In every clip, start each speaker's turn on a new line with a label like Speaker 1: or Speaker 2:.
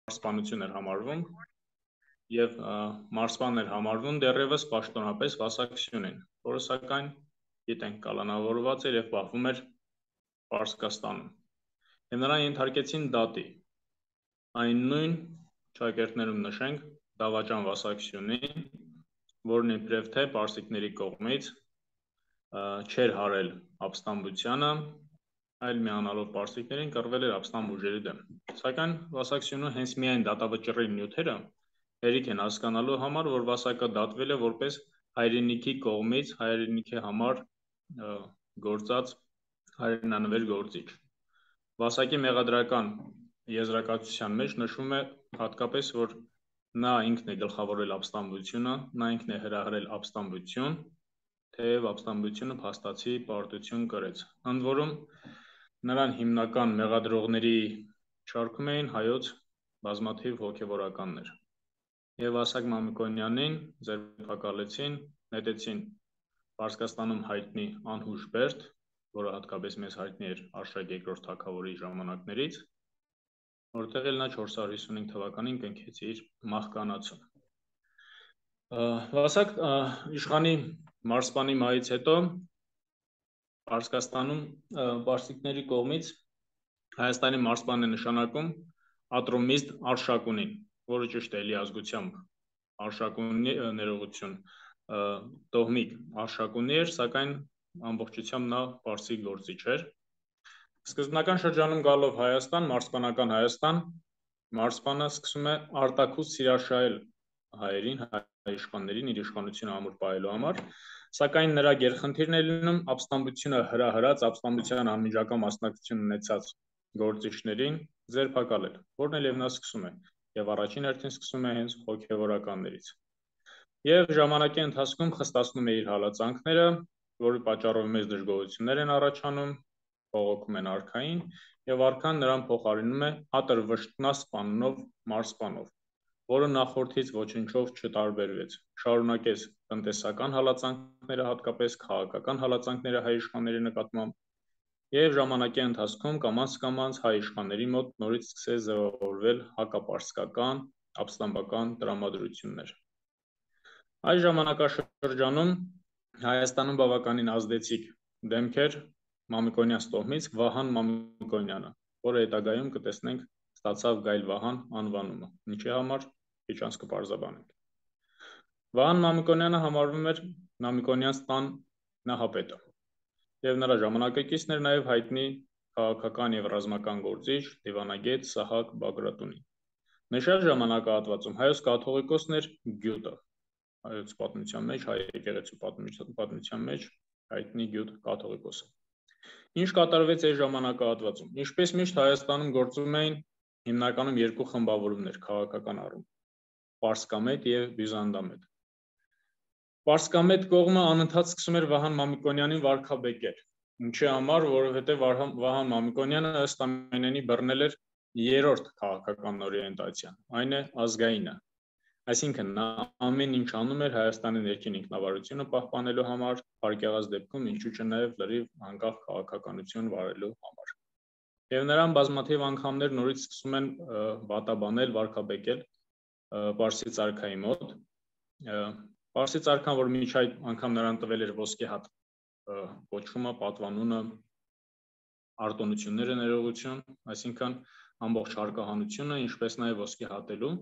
Speaker 1: մարզպանություն էր համարվում եւ մարզպան էր համարվում դեռևս պաշտոնապես Վասակցությունին, որը սակայն գիտենք կալանավորված էր եւ պահվում էր Պարսկաստանում։ Եվ նրան ենթարկեցին դատի։ Այն նույն ճակերտներում նշենք Դավաճան Վասակցությունին, որն իբրև թե պարսիկների կողմից չէր հարել ապստամբությանը, այլ միանալով պարսիկներին կռվել էր ապստամբ ուժերի դեմ։ Սակայն Վասակցությունը հենց միայն դատավճռի նյութերը հերիք են հասկանալու համար, որ Վասակը դատվել է որպես հայրենիքի կողմից հայրենիքի համար գործած հայրենանվեր գործիչ։ Վասակի մեղադրական եզրակացության մեջ նշվում է հատկապես, որ նա ինքն է գլխավորել ապստամբությունը, նա ինքն է հրահրել ապստամբություն, թեև ապստամբությունը փաստացի պարտություն կրեց։ Ընդ որում նրան հիմնական մեղադրողների շարքում էին հայոց բազմաթիվ հոգևորականներ։ Եվ Վասակ Մամիկոնյանին ձերբակալեցին, նետեցին Պարսկաստանում հայտնի Անհուշ Բերդ, որը հատկապես մեզ հայտնի էր Արշակ II թագավորի ժամանակներից, որտեղ էլ նա 455 թվականին կնքեց իր մահկանացուն։ Վասակ իշխանի մարզպանի մահից հետո Պարսկաստանում պարսիկների կողմից Հայաստանի մարզպանն է նշանակում Ատրոմիստ Արշակունին, որը ճիշտ է էլի ազգությամբ Արշակունի ներողություն տոհմիկ Արշակունի էր, սակայն ամբողջությամբ նա պարսիկ գործիչ էր։ Սկզբնական շրջանում գալով Հայաստան, մարզպանական Հայաստան, մարզպանը սկսում է արտաքուստ սիրաշահել հայերին, հայ իշխաններին իր իշխանությունը ամուր պահելու համար, սակայն նրա գերխնդիրն է լինում ապստամբությունը հրահրած, ապստամբության անմիջական մասնակցություն ունեցած գործիչներին ձերբակալել, որն էլ եւ նա սկսում է, եւ առաջին հերթին սկսում է հենց հոգևորականներից։ Եվ ժամանակի ընթացքում խստացնում է իր հալածանքները, որի պատճառով մեծ դժգոհություններ են առաջանում, բողոքում են արքային, եւ արքան նրան փոխարինում է Ատրվշտնասպաննով մարզպանով, որը նախորդից ոչնչով չտարբերվեց, շարունակեց տնտեսական հալածանքները, հատկապես քաղաքական հալածանքները հայ իշխանների նկատմամբ, եւ ժամանակի ընթացքում կամաց-կամաց հայ իշխանների մոտ նորից սկսեց ձևավորվել հակապարսկական, ապստամբական տրամադրություններ։ Այս ժամանակաշրջանում Հայաստանում բավականին ազդեցիկ դեմք էր Մամիկոնյան տոհմից Վահան Մամիկոնյանը, որը հետագայում կտեսնենք ստացավ Գայլ Վահան անվանումը, ինչի համար քիչ անց կպարզաբանենք։ Վահան Մամիկոնյանը համարվում էր Մամիկոնյանց տան նահապետը, եւ նրա ժամանակակիցն էր նաեւ հայտնի քաղաքական եւ ռազմական գործիչ դիվանագետ Սահակ Բագրատունին։ Նշած ժամանակահատվածում հայոց կաթողիկոսն էր գյուտը, հայոց պատմության մեջ, հայ եկեղեցու պատմության մեջ հայտնի գյուտ կաթողիկոսը։ Ինչ կատարվեց այս ժամանակահատվածում։ Ինչպես միշտ Հայաստանում գործում էին հիմնականում երկու խմբավորումներ քաղաքական առումով՝ Պարսկամետ եւ Բյուզանդամետ։ Պարսկամետ կողմը անընդհատ սկսում էր Վահան Մամիկոնյանին վարկաբեկել։ Ինչի համար, որովհետեւ Վահան Մամիկոնյանը ըստ ամենայնի բռնել էր երրորդ քաղաքական օրիենտացիան, այն է ազգայինը։ Այսինքն նա ամեն ինչ անում էր Հայաստանի ներքին ինքնավարությունը պահպանելու համար, փառք դեպքում ինչու՞ չէ նաև լրիվ անկախ քաղաքականություն վարելու համար։ Եվ նրան բազմաթիվ անգամներ նորից սկսում են վատաբանել, վարկաբեկել Պարսի царքայի մոտ։ Պարսի царքան, որ մինչ այդ անգամ նրան տվել էր ոսկե հատ կոչումը, պատվանունը, արտոնությունները ներողություն, այսինքն ամբողջ հարկահանությունը, ինչպես նաև ոսկե հատելու,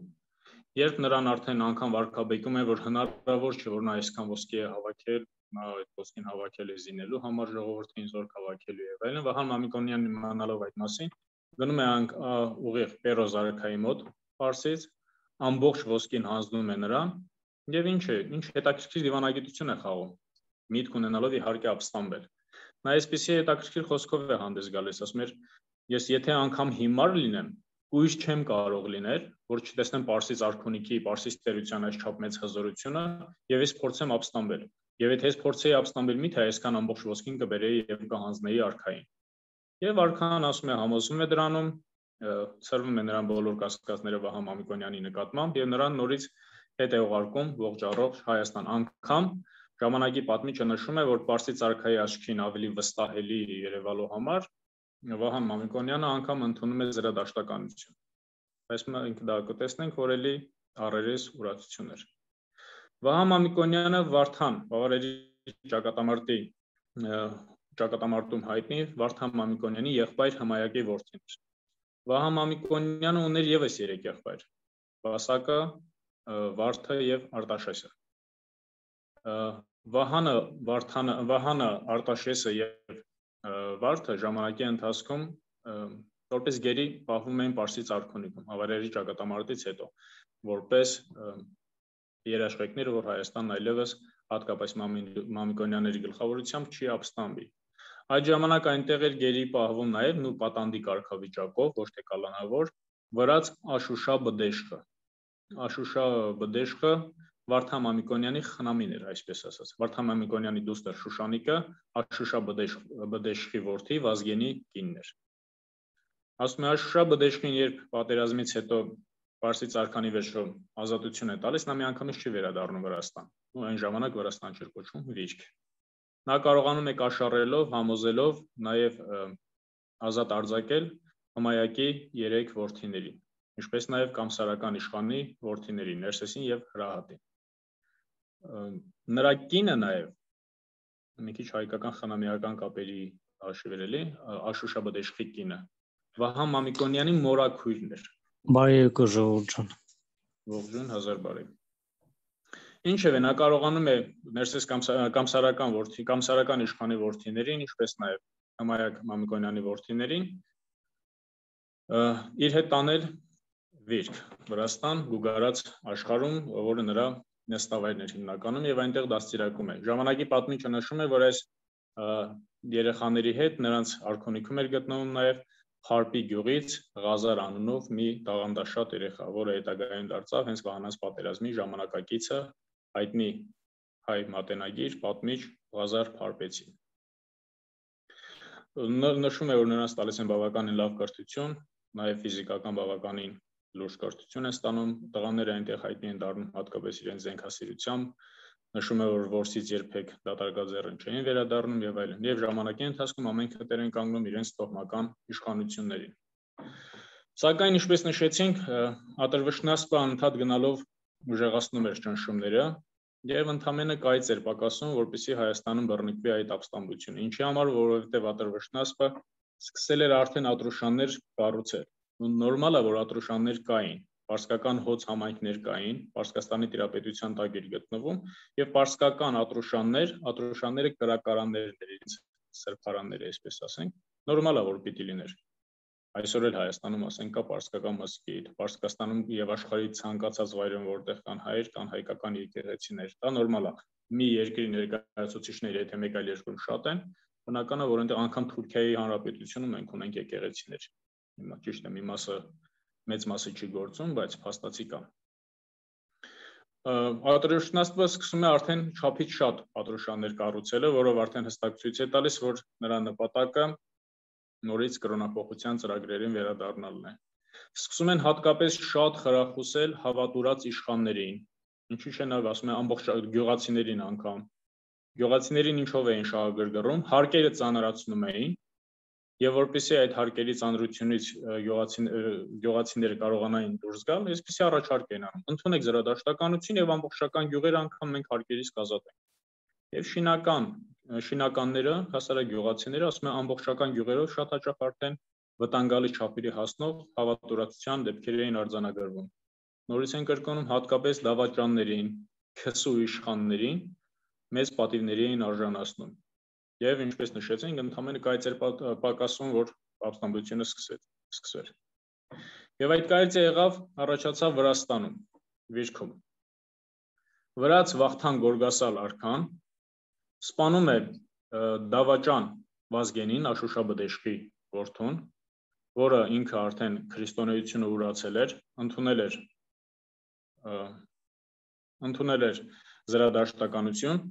Speaker 1: երբ նրան արդեն անգամ վարկաբեկում է, որ հնարավոր չէ, որ նա այսքան ոսկի է հավաքել, նա այդ ոսկին հավաքել է զինելու համար, ժողովրդին զորք հավաքելու եւ այլն, Վահան Մամիկոնյանն իմանալով այդ մասին, գնում է ուղիղ Պերոզ արքայի մոտ Պարսից, ամբողջ ոսկին հանձնում է նրան եւ ինչ հետաքրքիր դիվանագիտություն է խաղում, միտք ունենալով իհարկե ապստամբել։ Նա այսպեսի հետաքրքիր խոսքով է հանդես գալիս, ասում էր, ես եթե անգամ հիմար լինեմ, ույս չեմ կարող լինել, որ չտեսնեմ Պարսից արքունիքի, Պարսից տերության այս չափ մեծ հզորությունը եւ ես փորձեմ ապստամբել։ Եվ եթե ես փորձեի ապստամբել, միթե այսքան ամբողջ ոսկին կբերեի եւ կհանձնեի արքային։ Եվ արքան ասում է, համոզվում է դրանում, ծրվում է նրան բոլոր կասկածները Վահան Մամիկոնյանի նկատմամբ եւ նրան նորից հետ է ուղարկում ողջ առողջ Հայաստան անգամ ժամանակի պատմիչը նշում է, որ Պարսի царքայի աչքին ավելի վստահելի երևալու համար Վահան Մամիկոնյանը անգամ ընդունում է զրադաշտականություն։ Այս մենք դա կտեսնենք, որ էլի առերես ուրացություն էր։ Վահա Մամիկոնյանը Վարդան Բավարերի ճակատամարտում հայտնի Վարդան Մամիկոնյանի եղբայր Հմայակի որդին էր։ Վահա Մամիկոնյանը ուներ ևս 3 եղբայր՝ Վասակը, Վարդը եւ Արտաշեսը։ Վահանը, Արտաշեսը եւ Վարդը ժամանակի ընթացքում որպես գերի պահվում էին Պարսից արքունիքում Բավարերի ճակատամարտից հետո, որպես երաշխիքներ, որ Հայաստանն այլևս հատկապես Մամիկոնյանների գլխավորությամբ չի ապստամբի։ Այդ ժամանակ այնտեղ էր գերի պահվում նաև նույն պատանդի կարգավիճակով, ոչ թե կալանավոր, վրաց Աշուշա Բդեշխը։ Աշուշա Բդեշխը Վարդան Մամիկոնյանի խնամին էր, այսպես ասած։ Վարդան Մամիկոնյանի դուստր Շուշանիկը Աշուշա Բդեշխի որդի Վազգենի կինն էր։ Ասում է Աշուշա Բդեշխին, երբ պատերազմից հետո Պարսից արքանի վերջո ազատություն է տալիս, նա միանգամից չի վերադառնում Վրաստան։ Ու այն ժամանակ Վրաստան չէր կոչվում, Վիճք։ Նա կարողանում է կաշառելով, համոզելով նաև ազատ արձակել Հմայակի 3 որդիներին, ինչպես նաև կամսարական իշխանի որդիներին, Ներսեսին եւ Հրահատին։ Նրա կինը նաև մի քիչ հայկական խնամիական կապերի հաշիվեր էլի, Աշուշա Բդեշխի կինը Վահա Մամիկոնյանի մորաքույրն էր։
Speaker 2: Բարի եկո ժողովուրդ ջան։
Speaker 1: Ողջույն, հազար բարի։ Ինչևէ, նա կարողանում է Ներսես կամսարական իշխանի որդիներին, ինչպես նաև Հմայակ Մամիկոնյանի որդիներին իր հետ տանել Վիրք, Վրաստան, Գուգարաց աշխարհում, որը նրա նստավայրն էր հիմնականում եւ այնտեղ դաստիարակում է։ Ժամանակի պատմիչը նշում է, որ այս երեխաների հետ նրանց արքունիքում էր գտնվում նաև Խարպի գյուղից Ղազար անունով մի տաղանդաշատ երեխա, որը հետագայում դարձավ հենց Վահանաց պատերազմի ժամանակակիցը, հայտնի հայ մատենագիր, պատմիչ Ղազար Փարպեցին։ Նշում է, որ նրանց տալիս են բավականին լավ կրթություն, նաև ֆիզիկական բավականին լուրջ կրթություն են ստանում, տղաները այնտեղ հայտնի են դառնում հատկապես իրենց զենքասիրությամբ, նշում է, որ որսից երբեք դատարկաձեռն չէին վերադառնում եւ այլն, եւ ժամանակի ընթացքում ամեն քետեր են կանգնում իրենց տոհմական իշխանություններին։ Սակայն, ինչպես նշեցինք, Ատրվշնասպը անընդհատ գնալով ուժեղացնում էր ճնշումները եւ ընդամենը կայծ էր պակասում, որպեսզի Հայաստանում բռնկվի այդ ապստամբությունը, ինչի համար, որովհետեւ Ատրվշնասպը սկսել էր արդեն ատրուշաններ կառուցել։ Նորմալ է, որ ատրուշաններ կային, պարսկական հոց համայնքներ կային, Պարսկաստանի տիրապետության տակ էր գտնվում եւ պարսկական ատրուշանները կրակարաններ էր, սրբարաններ, այսպես ասենք, նորմալ է, որ պիտի լիներ։ Այսօր էլ Հայաստանում ասենք կա պարսկական մզկիթ, Պարսկաստանում եւ աշխարհի ցանկացած վայրում, որտեղ կան հայեր, կան հայկական եկեղեցիներ, դա նորմալ է։ Մի երկրի ներկայացուցիչները, եթե մեկ այլ երկրում շատ են, բնական է, որ այնտեղ անգամ Թուրքիայի Հանրապետությունում մենք ունենք եկեղեցիներ։ Ճիշտ է, մի մասը մեծ մասը չի գործում, բայց փաստացի կա։ Ատրուշնասպը սկսում է արդեն չափից շատ ատրուշաններ կառուցելը, որով արդեն հստակ ցույց է տալիս, որ նրա նպատակը նորից կրոնափոխության ծրագրերին վերադառնալն է։ Սկսում են հատկապես շատ խրախուսել հավատուրած իշխաններին, ինչի՞ չէ նա ասում է ամբողջ գյուղացիներին անգամ։ Գյուղացիներին ինչով էին շահագրգռում, հարկերը ծանրացնում էին, եւ որպեսզի այդ հարկերի ծանրությունից գյուղացիները կարողանային դուրս գալ, այսպեսի առաջարկ են անում։ Ընդունեք զրադաշտականություն եւ ամբողջական գյուղերը անգամ մենք հարկերից կազատենք։ Եվ շինականները, հասարակ գյուղացիները, ասում են ամբողջական գյուղերով շատ հաճախ արդեն վտանգալի չափերի հասնող հավատուրացության դեպքեր էին արձանագրվում։ Նորից են կրկնում հատկապես դավաճաններին, քսու իշխաններին մեծ պատիվների էին արժանացնում։ Եվ ինչպես նշեցինք, ընդամենը կայծ էր պակասում, որ ապստամբությունը սկսվեր։ Եվ այդ կայծը եղավ, առաջացավ Վրաստանում, Վիճքում։ Վրաց Վախթան Գորգասալ արքան սպանում է դավաճան Վազգենին, Աշուշա Բդեշխի որդուն, որը ինքը արդեն քրիստոնեությունը ուրացել էր, ընդունել էր զրադաշտականություն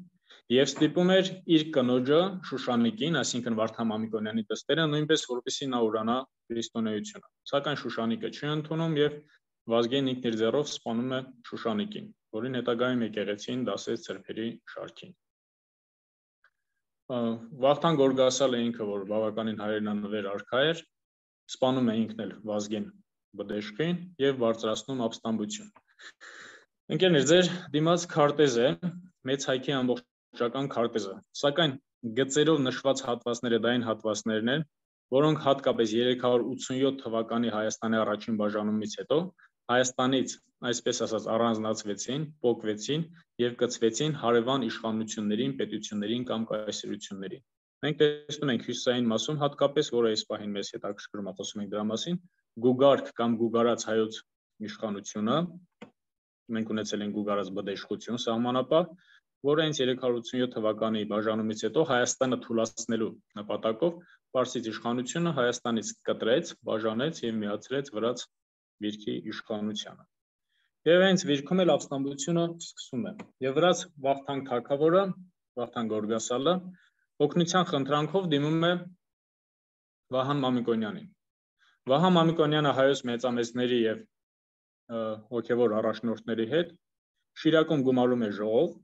Speaker 1: եւ ստիպում էր իր կնոջը Շուշանիկին, այսինքն Վարդան Մամիկոնյանի դստերը, նույնպես որպեսզի նա ուրանա քրիստոնեությունը։ Սակայն Շուշանիկը չի ընդունում եւ Վազգենն ինքն իր ձեռով սպանում է Շուշանիկին, որին հետագայում եկեղեցին դասեց ծրփերի շարքին։ Վախթան Գորգասալը ինքը, որ բավականին հայրենանվեր արքա էր, սպանում է ինքն էլ Վազգեն բդեշխին եւ բարձրացնում ապստամբություն։ Ընկերներ, ձեր դիմաց քարտեզ է, մեծ հայքի ամբողջական քարտեզը, սակայն գծերով նշված հատվածները դա այն հատվածներն են, որոնք հատկապես 387 թվականի Հայաստանի առաջին բաժանումից հետո Հայաստանից, այսպես ասած, առանձնացվեցին, փոկվեցին եւ կցվեցին հարևան իշխանություններին, պետություններին կամ կայսրություններին։ Մենք տեսնում ենք հյուսիսային մասում հատկապես, որը այս պահին մեզ հետաքրքրում է, խոսում ենք դրա մասին, Գուգարք կամ Գուգարաց հայոց իշխանությունը, մենք ունեցել ենք Գուգարաց բդեշխություն սահմանապահ, որը հենց 387 թվականի բաժանումից հետո Հայաստանը թուլացնելու նպատակով Պարսից իշխանությունը Հայաստանից կտրեց, բաժանեց եւ միացրեց վրաց վիրքի իշխանությանը։ Եվ հենց վիրքում էլ ապստամբությունը սկսում է։ Եվ վրաց Վախթանգ թագավորը, Վախթանգ Գորգասալը, օգնության խնդրանքով դիմում է Վահան Մամիկոնյանին։ Վահան Մամիկոնյանը հայոց մեծամեծների եւ հոգեվոր առաջնորդների հետ Շիրակում գումարում է ժողով,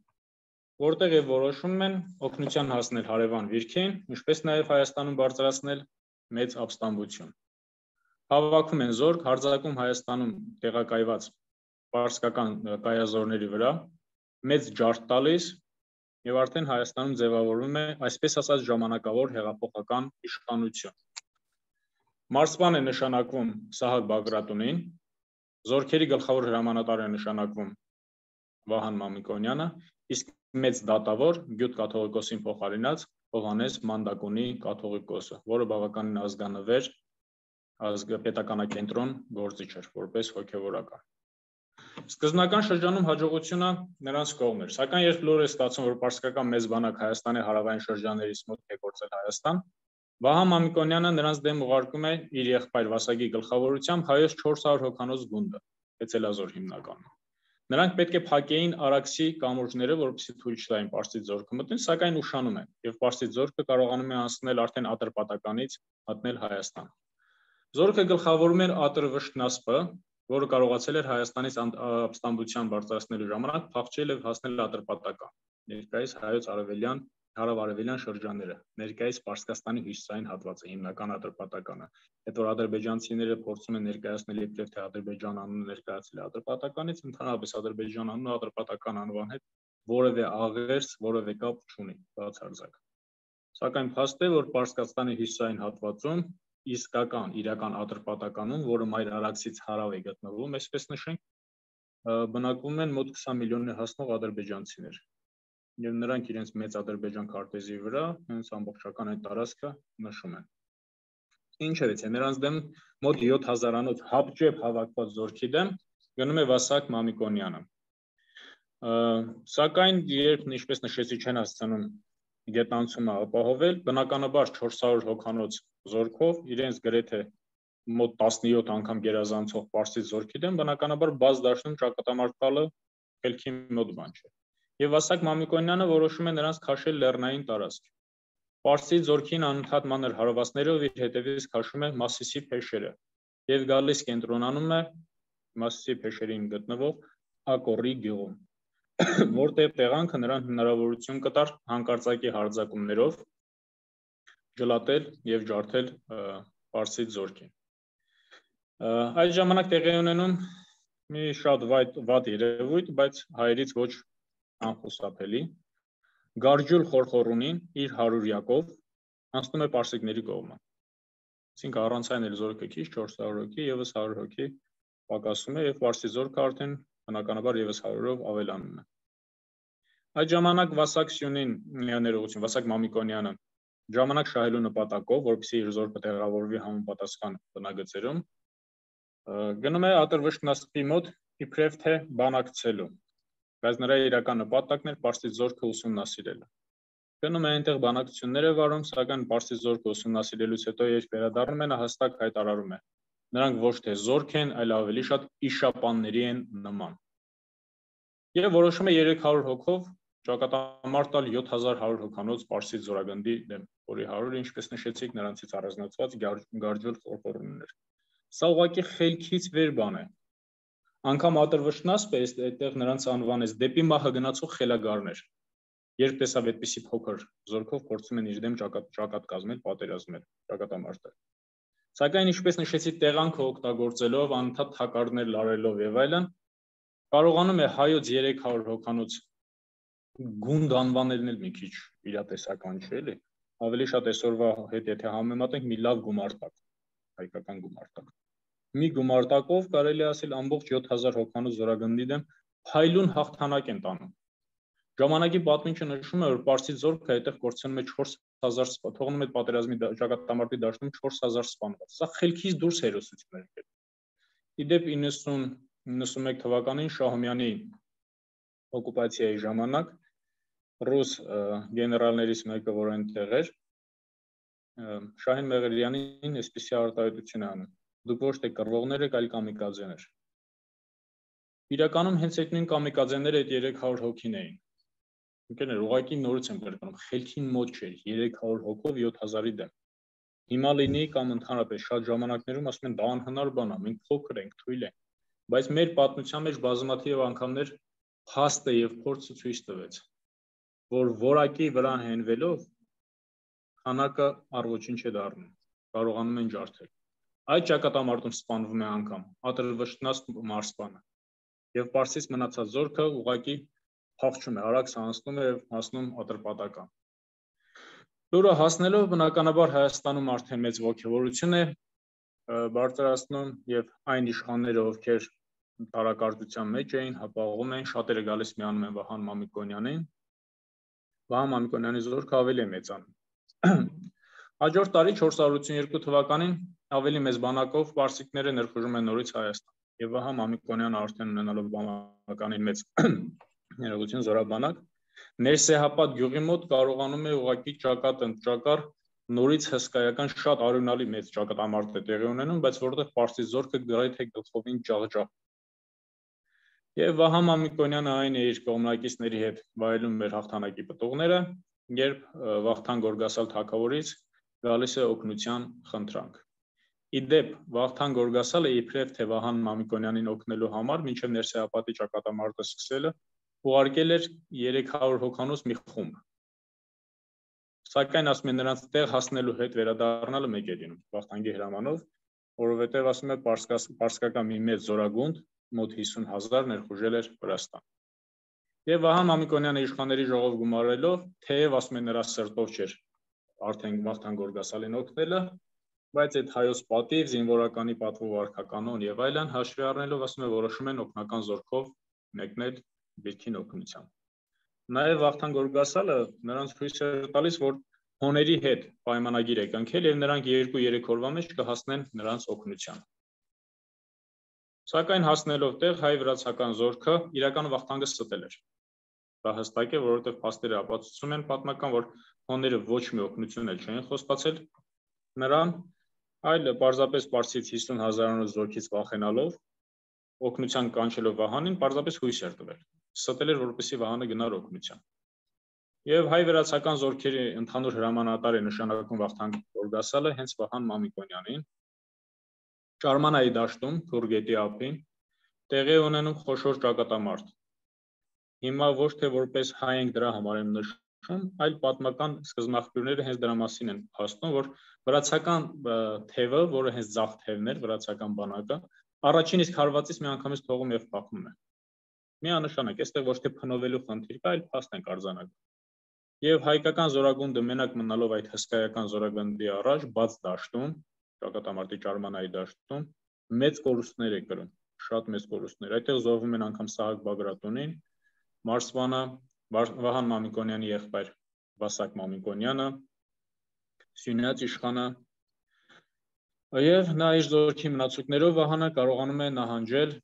Speaker 1: որտեղ եւ որոշում են օգնության հասնել հարևան վիրքին, ինչպես նաեւ Հայաստանում բարձրացնել մեծ ապստամբություն։ Հավաքում են զորք, հարձակում Հայաստանում տեղակայված պարսկական կայազորների վրա, մեծ ջարդ տալիս եւ արդեն Հայաստանում ձևավորվում է այսպես ասած ժամանակավոր հեղափոխական իշխանություն։ Մարզպան է նշանակվում Սահակ Բագրատունին, զորքերի գլխավոր հրամանատար է նշանակվում Վահան Մամիկոնյանը, իսկ մեծ դատավոր Գյուտ կաթողիկոսին փոխարինած Հովհաննես Մանդակունի կաթողիկոսը, որը բավականին ազգանվեր պետականակենտրոն գործիչ էր, որպես հոգևորական։ Սկզբնական շրջանում հաջողությունը նրանց կողմն էր, սակայն երբ լուր է ստացվում, որ պարսկական մեծ բանակ Հայաստանի հարավային շրջաններից մոտ է գործել Հայաստան, Վահան Մամիկոնյանը նրանց դեմ ուղարկում է իր եղբայր Վասագի գլխավորությամբ հայոց 400 հոգանոց գունդը, Էցելազոր հիմնականում։ Նրանք պետք է փակեին Արաքսի կամուրջները, որպեսզի թույլ չտային Պարսից զորքը մտնել, սակայն ուշանում են, եւ Պարսից զորքը կարողանում է անցնել արդեն Ատրպատականից մտնել Հայաստան։ Զորքը գլխավորում էր Ատրվշտնասպը, որը կարողացել էր Հայաստանից ապստամբության բարձրացնելու ժամանակ փախչել եւ հասնել Ատրպատական, ներկայիս հայոց հարավ-արևելյան շրջանները, ներկայիս Պարսկաստանի հյուսիսային հատվածը, հիմնական Ատրպատականը։ Այդ որ ադրբեջանցիները փորձում են ներկայացնել իբրև թե Ադրբեջան անունը ներկայացել է Ատրպատականից, ընդհանրապես Ադրբեջան անունը Ատրպատական անվան հետ որևէ աղերս, որևէ կապ չունի, բացարձակ։ Սակայն փաստ է, որ Պարսկաստանի հյուսիսային հատվածում իսկական իրական Ատրպատականում, որը Մայր Արաքսից հարավ է գտնվում, այսպես նշենք, բնակվում են մոտ 20 միլիոնի հասնող ադրբեջանցիներ։ Եվ նրանք իրենց մեծ Ադրբեջան քարտեզի վրա հենց ամբողջական այդ տարածքը նշում են։ Ինչևէ, նրանց դեմ մոտ 7000-անոց հապճեպ հավաքված զորքի դեմ գնում է Վասակ Մամիկոնյանը։ Սակայն երբ ինչպես նշեցի չեն հասցնում գետնանցումը ապահովել, բնականաբար 400 հոգանոց զորքով իրենց գրեթե մոտ 17 անգամ գերազանցող Պարսից զորքի դեմ բնականաբար բաց դաշնում ճակատամարտ տալը խելքի մոտ բան չէ։ Եվ Վասակ Մամիկոնյանը որոշում է նրանց քաշել լեռնային տարածք։ Պարսից զորքին անընդհատ մանր հարվածներով իր հետևից քաշում է Մասիսի փեշերը եւ գալիս կենտրոնանում է Մասիսի փեշերին գտնվող Ակորի գյուղում, որտեղ տեղանքը նրան հնարավորություն կտար հանկարծակի հարձակումներով ջլատել եւ ջարդել Պարսից զորքին։ Այդ ժամանակ տեղի ունենում մի շատ վատ երևույթ, բայց հայերից ոչ անխուսափելի, Գարջուլ Խորխորունին իր 100-յակով անցնում է պարսիկների կողմը։ Այսինքն առանցայն էլ զորքը քիչ 400 հոգի եւս 100 հոգի պակասում է եւ Պարսից զորքը արդեն բնականաբար եւս 100-ով ավելանում է։ Այդ ժամանակ Վասակ Սյունին ներողություն, Վասակ Մամիկոնյանը ժամանակ շահելու նպատակով, որպեսզի իր զորքը տեղավորվի համապատասխան բնագծերում, գնում է Ատրվշտնասպի մոտ իբրև թե բանակցելու, բայց նրա իրական նպատակն էր Պարսից զորքը ուսումնասիրելը։ Գնում է այնտեղ բանակցություններ է վարում, սակայն Պարսից զորքը ուսումնասիրելուց հետո երբ վերադառնում են, հստակ հայտարարում է. նրանք ոչ թե զորք են, այլ ավելի շատ իշապանների են նման։ Եվ որոշում է 300 հոգով ճակատամարտ տալ 7100 հոգանոց Պարսից զորագնդի դեմ, որի 100-ը, ինչպես նշեցիք, նրանցից առանձնացված Գարջուլ Խորխորուններ։ Սա ուղղակի խելքից վեր բան է։ Անկամ Ատրվշտնասպը այդտեղ նրանց անվանեց դեպի մահը գնացող խելագարներ։ Երբ տեսավ այդպիսի փոքր զորքով փորձում են իր դեմ ճակատ կազմել, պատերազմել, ճակատամարտել։ Սակայն ինչպես նշեցի, տեղանքը օգտագործելով, անընդհատ թակարդներ լարելով եւ այլն, կարողանում է հայոց 300 հոգանոց գունդ անվանելն էլ մի քիչ իրատեսական չէ, էլի։ Ավելի շատ այսօրվա հետ եթե համեմատենք, մի լավ գումարտակ, հայկական գումարտակ։ Մի գումարտակով կարելի ասել ամբողջ 7000 հոգանոց զորագնդի դեմ փայլուն հաղթանակ են տանում։ Ժամանակի պատմիչը նշում է, որ Պարսից զորքը այդտեղ կորցնում է 4000 սպան, թողնում է պատերազմի ճակատամարտի դաշտում 4000 սպանված։ Սա խելքից դուրս հերոսություն էր։ Իդեպ 90-91 թվականին Շահումյանի օկուպացիայի ժամանակ ռուս գեներալներից մեկը, որ այնտեղ էր, Շահին Մեղրյանին այսպիսի արտահայտություն է անում. դուք ոչ թե կռվողներ եք, այլ կամիկաձեներ։ Իրականում հենց այդ նույն կամիկաձեները այդ 300 հոգին էին։ Ընկերներ, ուղղակի նորից եմ կրկնում, խելքին մոտ չէր 300 հոգով 7000-ի դեմ։ Հիմա լինի կամ ընդհանրապես շատ ժամանակներում ասում են դա անհնար բան է, մենք փոքր ենք, թույլ ենք, բայց մեր պատմության մեջ բազմաթիվ անգամներ փաստը եւ փորձը ցույց տվեց, որ որակի վրա հենվելով քանակը առ ոչինչ է դառնում, կարողանում են ջարդել։ Այդ ճակատամարտում սպանվում է անգամ Ատրվշտնաց մարզպանը եւ Պարսից մնացած զորքը ուղղակի փախչում է, արագ հանձնում է եւ հասնում Ատրպատական։ Լուրը հասնելով բնականաբար Հայաստանում արդեն մեծ ողջավորություն է բարձրացնում եւ այն իշխանները, ովքեր տարակարծության մեջ էին, հապաղում են, շատերը գալիս միանում են Վահան Մամիկոնյանին։ Վահան Մամիկոնյանի զորքը ավելի է մեծանում։ Հաջորդ տարի 482 թվականին ավելի մեծ բանակով պարսիկները ներխուժում են նորից Հայաստան եւ Վահան Մամիկոնյանը արդեն ունենալով բավականին մեծ ներողություն զորաբանակ Ներսեհապատ գյուղի մոտ կարողանում է ուղղակի ճակատ նորից հսկայական շատ արյունալի մեծ ճակատամարտ է տեղի ունենում, բայց որտեղ պարսից զորքը գրեթե գլխովին ջախջախ։ Եվ Վահան Մամիկոնյանը այն է իր կողմնակիցների հետ վայելում մեր հաղթանակի պտուղները, երբ Վախթան Գորգասալ թագավորից գալիս է օգնության խնդրանք։ Իդեպ Վախթան Գորգասալը իբրև թե Վահան Մամիկոնյանին օգնելու համար մինչև Ներսեհապատի ճակատամարտը սկսելը ուղարկել էր 300 հոգանոց մի խումբ։ Սակայն ասում են նրանց տեղ հասնելու հետ վերադառնալը մեկ է լինում Վախթանգի հրամանով, որովհետև ասում է պարսկական մի մեծ զորագունդ մոտ 50,000 ներխուժել էր Վրաստան։ Եվ Վահան Մամիկոնյանը իշխանների ժողով գումարելով, թեև ասում են նրա սրտով չէր արդեն Վախթան Գորգասալին օգնելը, բայց այդ հայոց պատիվ, զինվորականի պատվով արքականոն եւ այլն հաշվի առնելով, ասում է որոշում են օգնական զորքով մեկնել Բիրքին օգնության։ Նաեւ Վախթան Գորգասալը նրանց հույս էր տալիս, որ հոների հետ պայմանագիր է կնքել եւ նրանք 2-3 օրվա մեջ կհասնեն նրանց օգնության։ Սակայն հասնելով տեղ հայ-վրացական զորքը իրական Վախթանգը ստել էր։ Դա հստակ է, որովհետև փաստերը ապացուցում են պատմական, որ հոները ոչ մի օգնություն էլ չեն խոստացել նրան, այլ պարզապես Պարսից 50,000-անոց զորքից վախենալով, օգնության կանչելով Վահանին, պարզապես հույս էր տվել։ Ստել էր, որպեսզի Վահանը գնար օգնության։ Եվ հայ-վրացական զորքերի ընդհանուր հրամանատար է նշանակում Վախթան Գորգասալը հենց Վահան Մամիկոնյանին։ Ճարմանայի դաշտում, Թուրգետի ափին, տեղի ունենում խոշոր ճակատամարտ։ Հիմա ոչ թե որպես հայ ենք դրա համար եմ նշում, այլ պատմական սկզբնաղբյուրները հենց դրա մասին են փաստում, որ վրացական թևը, որը հենց ձախ թևն էր, վրացական բանակը, առաջին իսկ հարվածից միանգամից թողում եւ փախնում է։ Միանշանակ, այստեղ ոչ թե փնովելու խնդիր կա, այլ փաստ են արձանագրում։ Եվ հայկական զորագունդը մենակ մնալով այդ հսկայական զորագնդի առաջ, բաց դաշտում, ճակատամարտի Ճարմանայի դաշտում, մեծ կորուստներ է կրում, շատ մեծ կորուստներ։ Այդտեղ զոհվում են անգամ Սահակ Բագրատունին, Մարսվանը, Վահան Մամիկոնյանի եղբայր Վասակ Մամիկոնյանը, Սյունյաց իշխանը, եւ նա իր զորքի մնացուկներով Վահանը կարողանում է նահանջել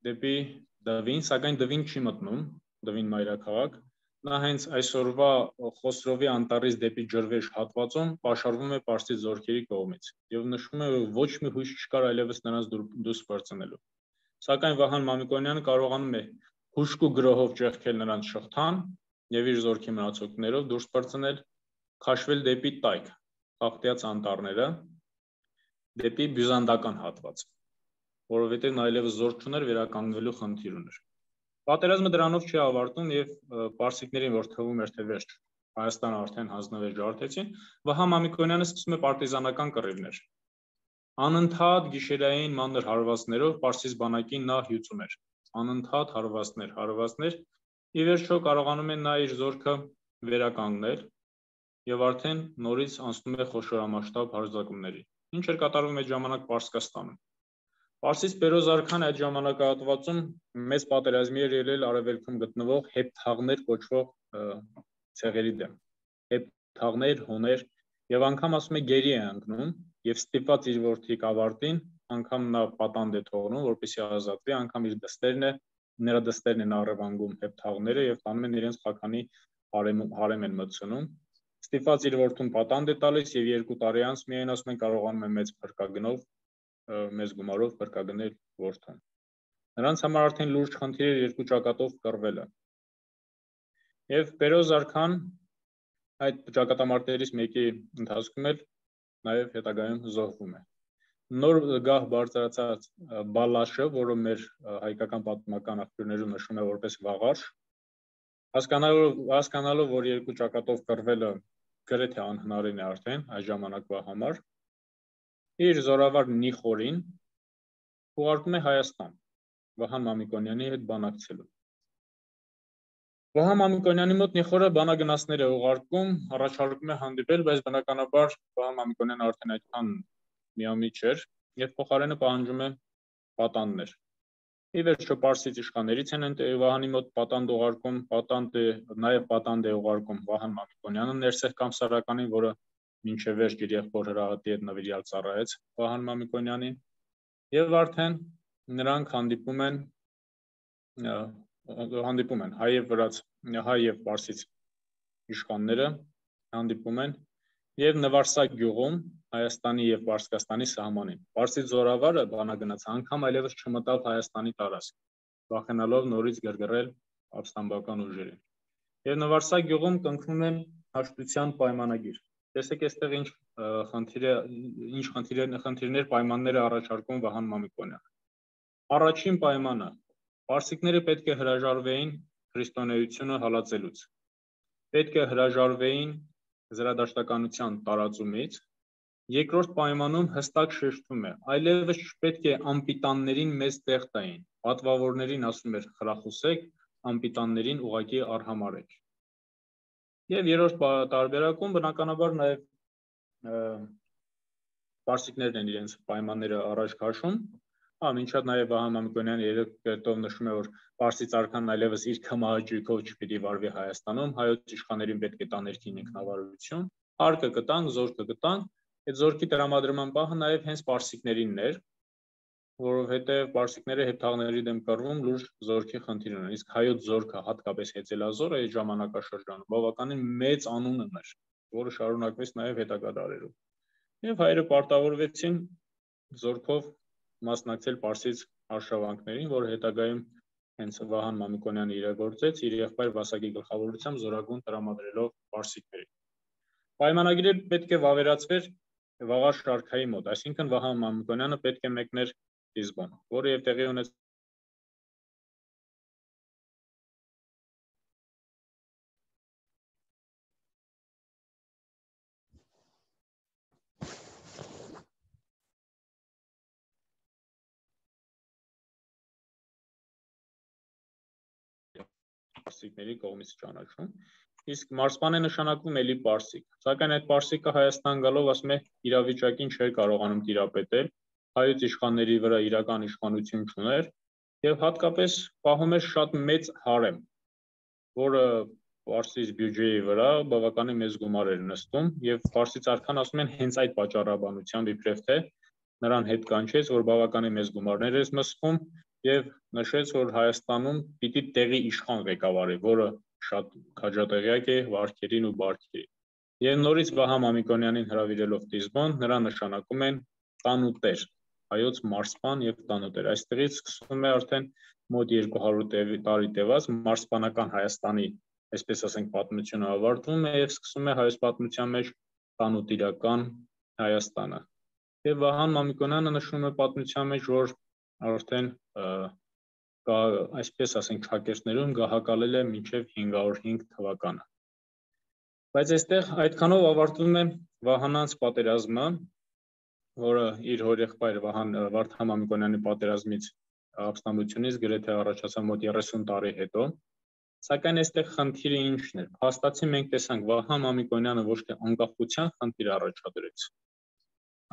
Speaker 1: դեպի Դվին, սակայն Դվին չի մտնում, Դվին մայրաքաղաք, նա հենց այսօրվա Խոսրովի անտառից դեպի Ջրվեժ հատվածում պաշարվում է պարսից զորքերի կողմից եւ նշվում է, որ ոչ մի հույս չկար այլևս նրանց դուրս բարձնելու։ Սակայն Վահան Մամիկոնյանը կարողանում է հուշկու գրոհով ճեղքել նրանց շղթան եւ իր զորքի մնացուկներով դուրս բարձնել, քաշվել դեպի Տայք, Խախտյաց անտառները, դեպի բյուզանդական հատված, որովհետեւ նա այլևս զոր չուներ, վերականգնվելու խնդիր ուներ։ Պատերազմը դրանով չի ավարտվում եւ պարսիկներին, որ թվում էր թե վերջ Հայաստանը արդեն հանձնվել ջարդեցին, Վահան Մամիկոնյանը սկսում է պարտիզանական կռիվներ։ Անընդհատ գիշերային մանր հարվածներով Պարսից բանակին նա հյուծում էր։ Անընդհատ հարվածներ, ի վերջո կարողանում են նա իր զորքը վերականգնել եւ արդեն նորից անցնում է խոշորամասշտաբ հարձակումների։ Ինչ էր կատարվում այդ ժամանակ Պարսկաստանում։ Պարսից Պերոզ արքան այդ ժամանակահատվածում մեծ պատերազմի էր ելել արևելքում գտնվող հեպթաղներ կոչվող ցեղերի դեմ։ Հեպթաղներ, հոներ եւ անգամ ասում է գերի է ընկնում եւ ստիպված իր որդի կավարտին անգամ նա պատանդ է թողնում, որպեսզի ազատվի, անգամ իր դստերն է, նրա դստերն են առևանգում հեպթաղները եւ տանում են իրենց խականի հարեմ են մտցնում։ Ստիպված իր որդուն պատանդ է տալիս եւ 2 տարի անց միայն ասում են կարողանում է մեծ գումարով փրկագնել որդուն։ Նրանց համար արդեն լուրջ խնդիր էր 2 ճակատով կռվելը։ Եվ Պերոզ արքան այդ ճակատամարտերից մեկի ընթացքում էլ նաև հետագայում զոհվում է։ Նոր գահ բարձրացած Բալաշը, որը մեր հայկական պատմական աղբյուրներում նշվում է որպես Վաղարշ, հասկանալով, որ 2 ճակատով կռվելը գրեթե անհնարին է արդեն այս ժամանակվա համար, իր զորավար Նիխորին ուղարկում է Հայաստան Վահան Մամիկոնյանի հետ բանակցելու։ Վահան Մամիկոնյանի մոտ Նիխորը բանագնացներ է ուղարկում, առաջարկում է հանդիպել, բայց բնականաբար Վահան Մամիկոնյանը արդեն այդքան միամիտ չէր եւ փոխարենը պահանջում է պատանդներ։ Ի վերջո Պարսից իշխաններից են Վահանի մոտ պատանդ ուղարկում, նաև պատանդ է ուղարկում Վահան Մամիկոնյանը Ներսեղ Կամսարականին, որը մինչև վերջ իր եղբոր Հրահատի հետ նվիրյալ ծառայեց Վահան Մամիկոնյանին, եւ արդեն նրանք հանդիպում են հայ եւ պարսից իշխանները հանդիպում են եւ Նվարսակ գյուղում Հայաստանի եւ Պարսկաստանի սահմանին։ Պարսից զորավարը բանագնաց անգամ այլևս չմտավ Հայաստանի տարածք, վախենալով նորից գրգռել ապստամբական ուժերին։ Եվ Նվարսակ գյուղում կնքվում են հաշտության պայմանագիր։ Տեսեք այստեղ ինչ խնդիրներ պայմաններ է առաջարկում Վահան Մամիկոնյանը։ Առաջին պայմանը պարսիկները պետք է հրաժարվեին քրիստոնեությունը հալածելուց։ Պետք է հրաժարվեին զրադաշտականության տարածումից։ Երկրորդ պայմանում հստակ շեշտվում է, այլևս չպետք է անպիտաններին մեծ տեղ տային։ Պատվավորներին ասում էր խրախուսեք, անպիտաններին ուղղակի արհամարհեք։ Եվ երրորդ տարբերակում բնականաբար նաև պարսիկներն են իրենց պայմանները առաջ քաշում։ Մինչև նաև Վահան Մամիկոնյանը երեք կերտով նշում է, որ Պարսից արքան այլևս իր քմահաճույքով չպիտի վարվի Հայաստանում, հայոց իշխաններին պետք է տա ներքին ինքնավարություն, հարկը կտանք, զորքը կտանք, այդ զորքի տրամադրման պահը նաև հենց պարսիկներինն էր, որովհետև պարսիկները հեպթաղների դեմ կռվում լուրջ զորքի խնդիր ունեն, իսկ հայոց զորքը, հատկապես հեծելազորը այդ ժամանակաշրջանում բավականին մեծ անուն ուներ, որը շարունակվեց նաև հետագա դարերում։ Եվ հայերը պարտավորվեցին զորքով մասնակցել պարսից արշավանքներին, որը հետագայում հենց Վահան Մամիկոնյանը իրագործեց իր եղբայր Վասակի գլխավորությամբ զորագուն տրամադրելով պարսիկներին։ Պայմանագիրը պետք է վավերացվեր Վաղարշ արքայի մոտ, այսինքն Վահան Մամիկոնյանը պետք է մեկներ Լիզբոն, որը եւ տեղի ունեց պարսիկների կողմից ճանաչում, իսկ մարսպան է նշանակվում էլի պարսիկ, սակայն այդ պարսիկը Հայաստան գալով ասում է իրավիճակին չէր կարողանում տիրապետել, հայոց իշխանների վրա իրական իշխանություն չուներ եւ հատկապես պահում էր շատ մեծ հարեմ, որը պարսից բյուջեի վրա բավականին մեծ գումար էր նստում եւ պարսից արքան ասում են հենց այդ պատճառաբանությամբ իբրև թե նրան հետ կանչեց, որ բավականին մեծ գումարներ էր մսխում եւ նշեց, որ Հայաստանում պիտի տեղի իշխան ղեկավարի, որը շատ քաջատեղյակ է վարքերին ու բարքերին։ Եվ նորից Վահան Մամիկոնյանին հրավիրելով Լիզբոն, նրան նշանակում են տանուտեր, հայոց մարսպան եւ տանուտեր։ Այստեղից սկսվում է արդեն մոտ 200 տարի տևած մարսպանական Հայաստանի, այսպես ասենք, պատմությունը ավարտվում է եւ սկսվում է հայոց պատմության մեջ տանուտիրական Հայաստանը։ Եվ Վահան Մամիկոնյանը նշում է պատմության մեջ, որ արդեն այսպես ասենք շակերտներում գահակալել է մինչև 505 թվականը։ Բայց այստեղ այդքանով ավարտվում է Վահանանց պատերազմը որը իր հորեղբայր Վարդան Մամիկոնյանի պատերազմից ապստամբությունից գրեթե առաջացավ մոտ 30 տարի հետո, սակայն այստեղ խնդիրը ինչն էր։ Փաստացի մենք տեսանք Վահան Մամիկոնյանը ոչ թե անկախության խնդիր առաջադրեց,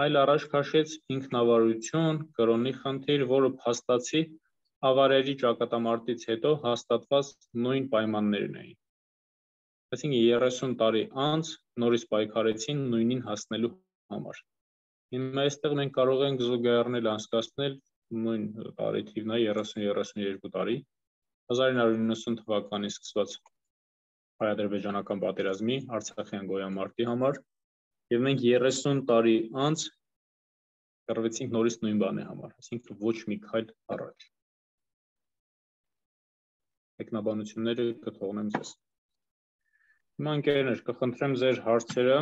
Speaker 1: այլ առաջ քաշեց ինքնավարություն, կրոնի խնդիր, որը փաստացի ավարերի ճակատամարտից հետո հաստատված նույն պայմաններն էին։ Այսինքն 30 տարի անց նորից պայքարեցին նույնին հասնելու համար։ Հիմա այստեղ մենք կարող ենք զուգահեռնել անցկացնել նույն տարի թիվն է 30-32 տարի 1990 թվականին սկսված հայ-ադրբեջանական պատերազմի Արցախյան գոյամարտի համար եւ մենք 30 տարի անց կռվեցինք նորից նույն բանի համար, այսինքն ոչ մի քայլ առաջ։ Մեկնաբանությունները կթողնեմ ձեզ։ Հիմա ընկերներ, կխնդրեմ ձեր հարցերը,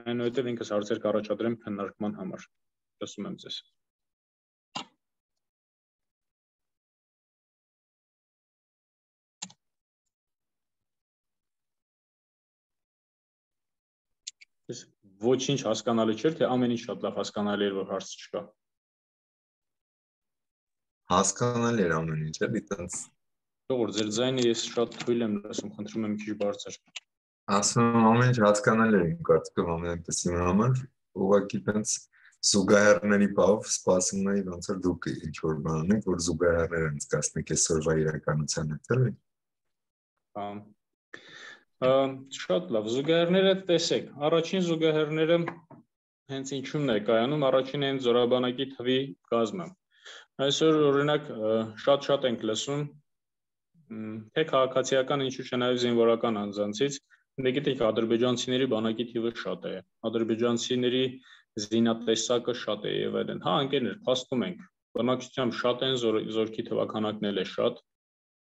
Speaker 1: այնուհետև ինքս հարցեր կառաջադրեմ քննարկման համար։ Լսում եմ ձեզ։ Ոչինչ հասկանալի չէր, թե ամեն ինչ շատ լավ հասկանալի էր, որ հարց չկա։
Speaker 3: Հասկանալի էր ամեն ինչ, էլի տենց։
Speaker 1: Որ ձեր ձայնը ես շատ թույլ եմ լսում, խնդրում եմ մի քիչ բարձր։
Speaker 3: Ասում եմ ամեն ինչ հասկանալի էր, կարծում եմ ամենպես իմ համար, ուղղակի տենց զուգահեռների բավ սպասում էի ոնց որ դուք ինչ որ բան ունեք, որ զուգահեռներ անցկացնեք այսօրվա իրականության հետ, էլի։
Speaker 1: Շատ լավ, զուգահեռները տեսեք, առաջին զուգահեռները հենց ինչու՞մն է կայանում, առաջին են զորաբանակի թվի կազմը։ Այսօր օրինակ շատ ենք լսում, թե քաղաքացիական ինչու՞ չէ նաև զինվորական անձանցից, դե գիտեք ադրբեջանցիների բանակի թիվը շատ է, ադրբեջանցիների զինատեսակը շատ է եւ այլն։ Հա, ընկերներ, փաստում ենք, բնակչությամբ շատ են, զորքի թվականակն էլ է շատ,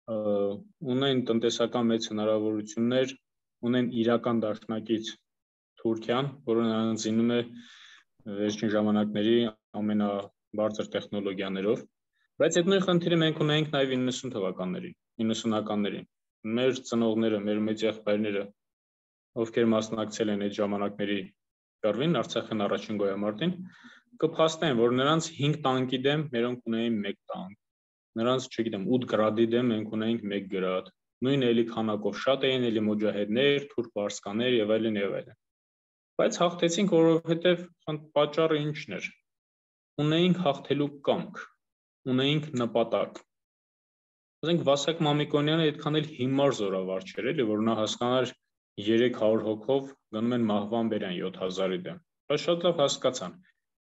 Speaker 1: ունեն տնտեսական մեծ հնարավորություններ, ունեն իրական դաշնակից Թուրքիան, որը նրանց զինում է վերջին ժամանակների ամենաբարձր տեխնոլոգիաներով, բայց այդ նույն խնդիրը մենք ունենք նաև 90 թվականներին, 90-ականներին։ Մեր ծնողները, մեր մեծ եղբայրները, ովքեր մասնակցել են այդ ժամանակների կռվին, Արցախյան առաջին գոյամարտին, կփաստեն, որ նրանց 5 տանկի դեմ մերոնք ունեին 1 տանկ, նրանց, չգիտեմ, 8 գրադի դեմ մենք ունեինք 1 գրադ, նույն էլի քանակով շատ էին, էլի մոջահեդներ, թուրք վարսկաներ եւ այլն եւ այլն։ Բայց հաղթեցինք, որովհետեւ պատճառը ինչն էր։ Ունեինք հաղթելու կամք, ունեինք նպատակ։ Ասենք Վասակ Մամիկոնյանը այդքան էլ հիմար զորավար չէր, էլի, որ նա հասկանար 300 հոգով գնում են մահվան բերան 7000-ի դեմ։ Բայց շատ լավ հասկացան։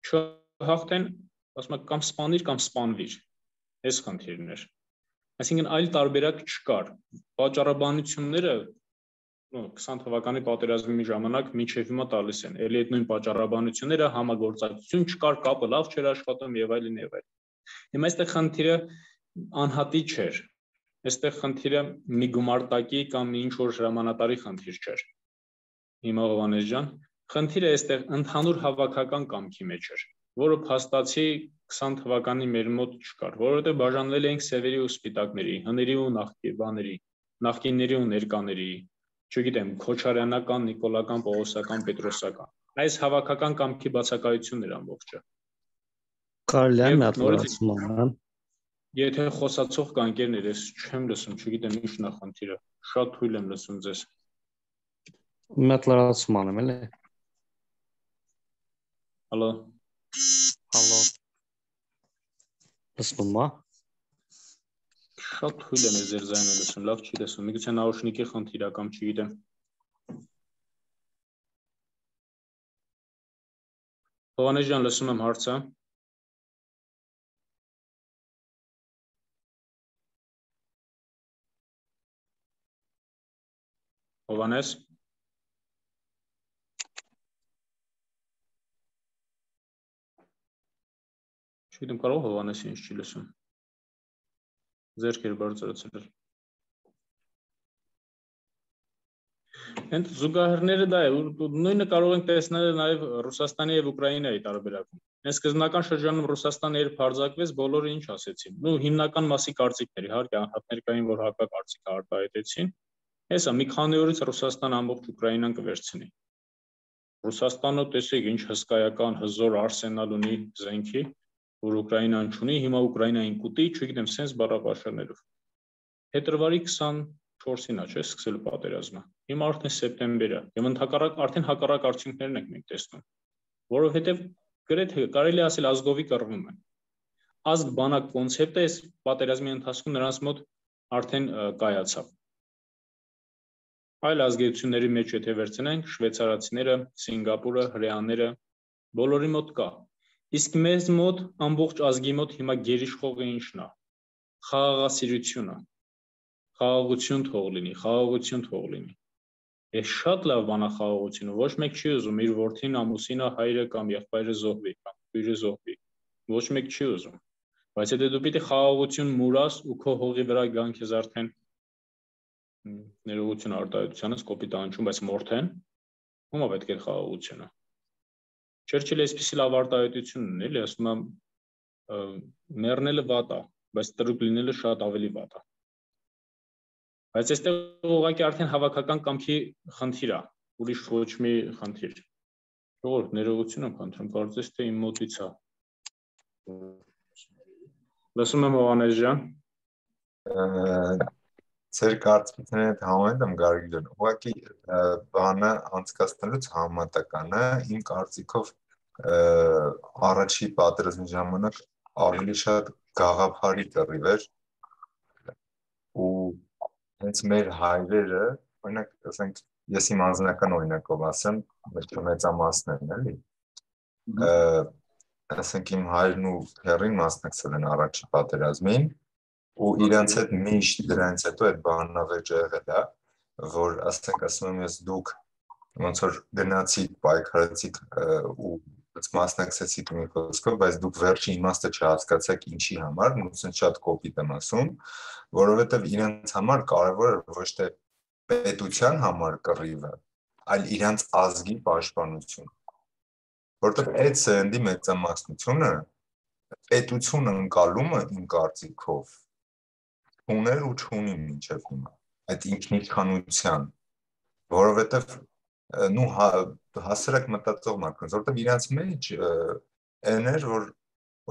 Speaker 1: Չհաղթեն, ասում եմ, կամ սպանիր կամ սպանվիր։ Այս խնդիրն էր։ Այսինքն այլ տարբերակ չկար։ Պատճառաբանությունները 20 թվականի պատերազմի ժամանակ մինչև հիմա տալիս են։ Էլի այդ նույն պատճառաբանությունները համագործակցություն չկար, կապը լավ չէր աշխատում եւ այլն եւ այլն։ Հիմա այստեղ խնդիրը անհատի չէր։ Այստեղ խնդիրը մի գումարտակի կամ մի ինչ որ հրամանատարի խնդիր չէր։ Հիմա Հովհաննես ջան, խնդիրը այստեղ ընդհանուր հավաքական կամքի մեջ էր, որը փաստացի 20 թվականի մեր մոտ չկար, որովհետև բաժանվել էինք սևերի ու սպիտակների, հների ու նախկինների ու ներկաների, չգիտեմ, քոչարյանական, նիկոլական, պողոսական, պետրոսական։ Այս հավաքական կամքի բացակայությունն էր ամբողջը։
Speaker 2: Կարելի է մի հատ լրացում անեմ։
Speaker 1: Եթե խոսացող կա ընկերներ, ես չեմ լսում, չգիտեմ ինչն է խնդիրը։ Շատ թույլ եմ լսում ձեզ։
Speaker 2: Մի հատ լրացում անեմ, էլի։
Speaker 1: Հալո։
Speaker 2: Հալո։ Լսում ա։
Speaker 1: Շատ թույլ եմ ձեր ձայնը լսում, լավ չի լսում։ Միգուցե նաուշնիկի խնդիր ա կամ չգիտեմ։ Հովհաննես ջան, լսում եմ հարցը։ Հովհաննես։ Չգիտեմ, կարող Հովհաննեսը ինչ չի լսում։ Ձերքեր բարձրացրել։ Հենց զուգահեռները դա է, նույնը կարող ենք տեսնել նաև Ռուսաստանի եւ Ուկրաինայի տարբերակում։ Այս սկզբնական շրջանում Ռուսաստանը երբ հարձակվեց, բոլորը ինչ ասեցին։ Նու հիմնական մասի կարծիքներ, իհարկե անհատներ կային, որ հակակարծիք արտահայտեցին։ Հեսա մի քանի օրից Ռուսաստանը ամբողջ Ուկրաինան կվերցնի։ Ռուսաստանը տեսեք ինչ հսկայական հզոր արսենալ ունի զենքի, որ Ուկրաինան չունի, հիմա Ուկրաինային կուտի, չգիտեմ, սենց բառապաշարներով։ Փետրվարի 24-ին է, չէ՞, սկսել պատերազմը։ Հիմա արդեն սեպտեմբեր է, եւ արդեն հակառակ արդյունքներն ենք մենք տեսնում, որովհետեւ գրեթե կարելի է ասել ազգովի կռվում են։ Ազգ բանակ կոնցեպտը այս պատերազմի ընթացքում նրանց մոտ արդեն կայացավ։ Այլ ազգությունների մեջ եթե վերցնենք շվեյցարացիները, Սինգապուրը, հրեաները, բոլորի մոտ կա։ Իսկ մեզ մոտ ամբողջ ազգի մոտ հիմա գերիշխողը ինչն է։ Խաղաղասիրությունը։ Խաղաղություն թող լինի, խաղաղություն թող լինի։ Ես շատ լավ բան է խաղաղությունը, ոչ մեկ չի ուզում իր որդին, ամուսինը, հայրը կամ եղբայրը զոհվի, կամ քույրը զոհվի։ Ոչ մեկ չի ուզում։ Բայց եթե դու պիտի խաղաղություն մուրաս ու քո հողի վրա գան քեզ արդեն ներողություն արտահայտությանս կոպիտ անջում, բայց մորթեն, ո՞ւմ է պետք է խաղաղությունը։ Չերչիլը այսպիսի լավ արտահայտություն ունի, էլի ասում է մեռնելը վատ է, բայց տրուկ լինելը շատ ավելի վատ է։ Բայց այստեղ ուղղակի արդեն հավաքական կամքի խնդիր է, ուրիշ ոչ մի խնդիր։ Ժողովուրդ, ներողություն եմ խնդրում, կարծես թե իմ մոտից է։ Լսում եմ Հովհաննես ջան։
Speaker 3: Ձեր կարծիքների հետ համաձայն եմ Գարգին ջան, ուղղակի բանը անցկացնելուց համատականը իմ կարծիքով առաջի պատերազմի ժամանակ ավելի շատ գաղափարի կռիվ էր ու հենց մեր հայրերը, օրինակ, ասենք, ես իմ անձնական օրինակով ասեմ, մեծամասն են, էլի։ Ասենք իմ հայրն ու հեռին մասնակցել են առաջի պատերազմին ու իրանց հետ միշտ դրանից հետո այդ բանավեճը եղել է, որ ասենք ասում եմ ես դուք ոնց որ գնացիք, պայքարեցիք ու մասնակցեցիք մի խոսքով, բայց դուք վերջի իմաստը չհասկացաք ինչի համար, նույնիսկ շատ կոպիտ եմ ասում, որովհետև իրանց համար կարևոր է ոչ թե պետության համար կռիվը, այլ իրանց ազգի պաշտպանություն, որովհետև այդ սերնդի մեծամասնությունը պետություն ընկալումը իմ կարծիքով ուներ ու չունի մինչև հիմա, այդ ինքնիշխանության, որովհետև նու հասարակ մտածող մարդկանց, որովհետև իրանց մեջ այն էր, որ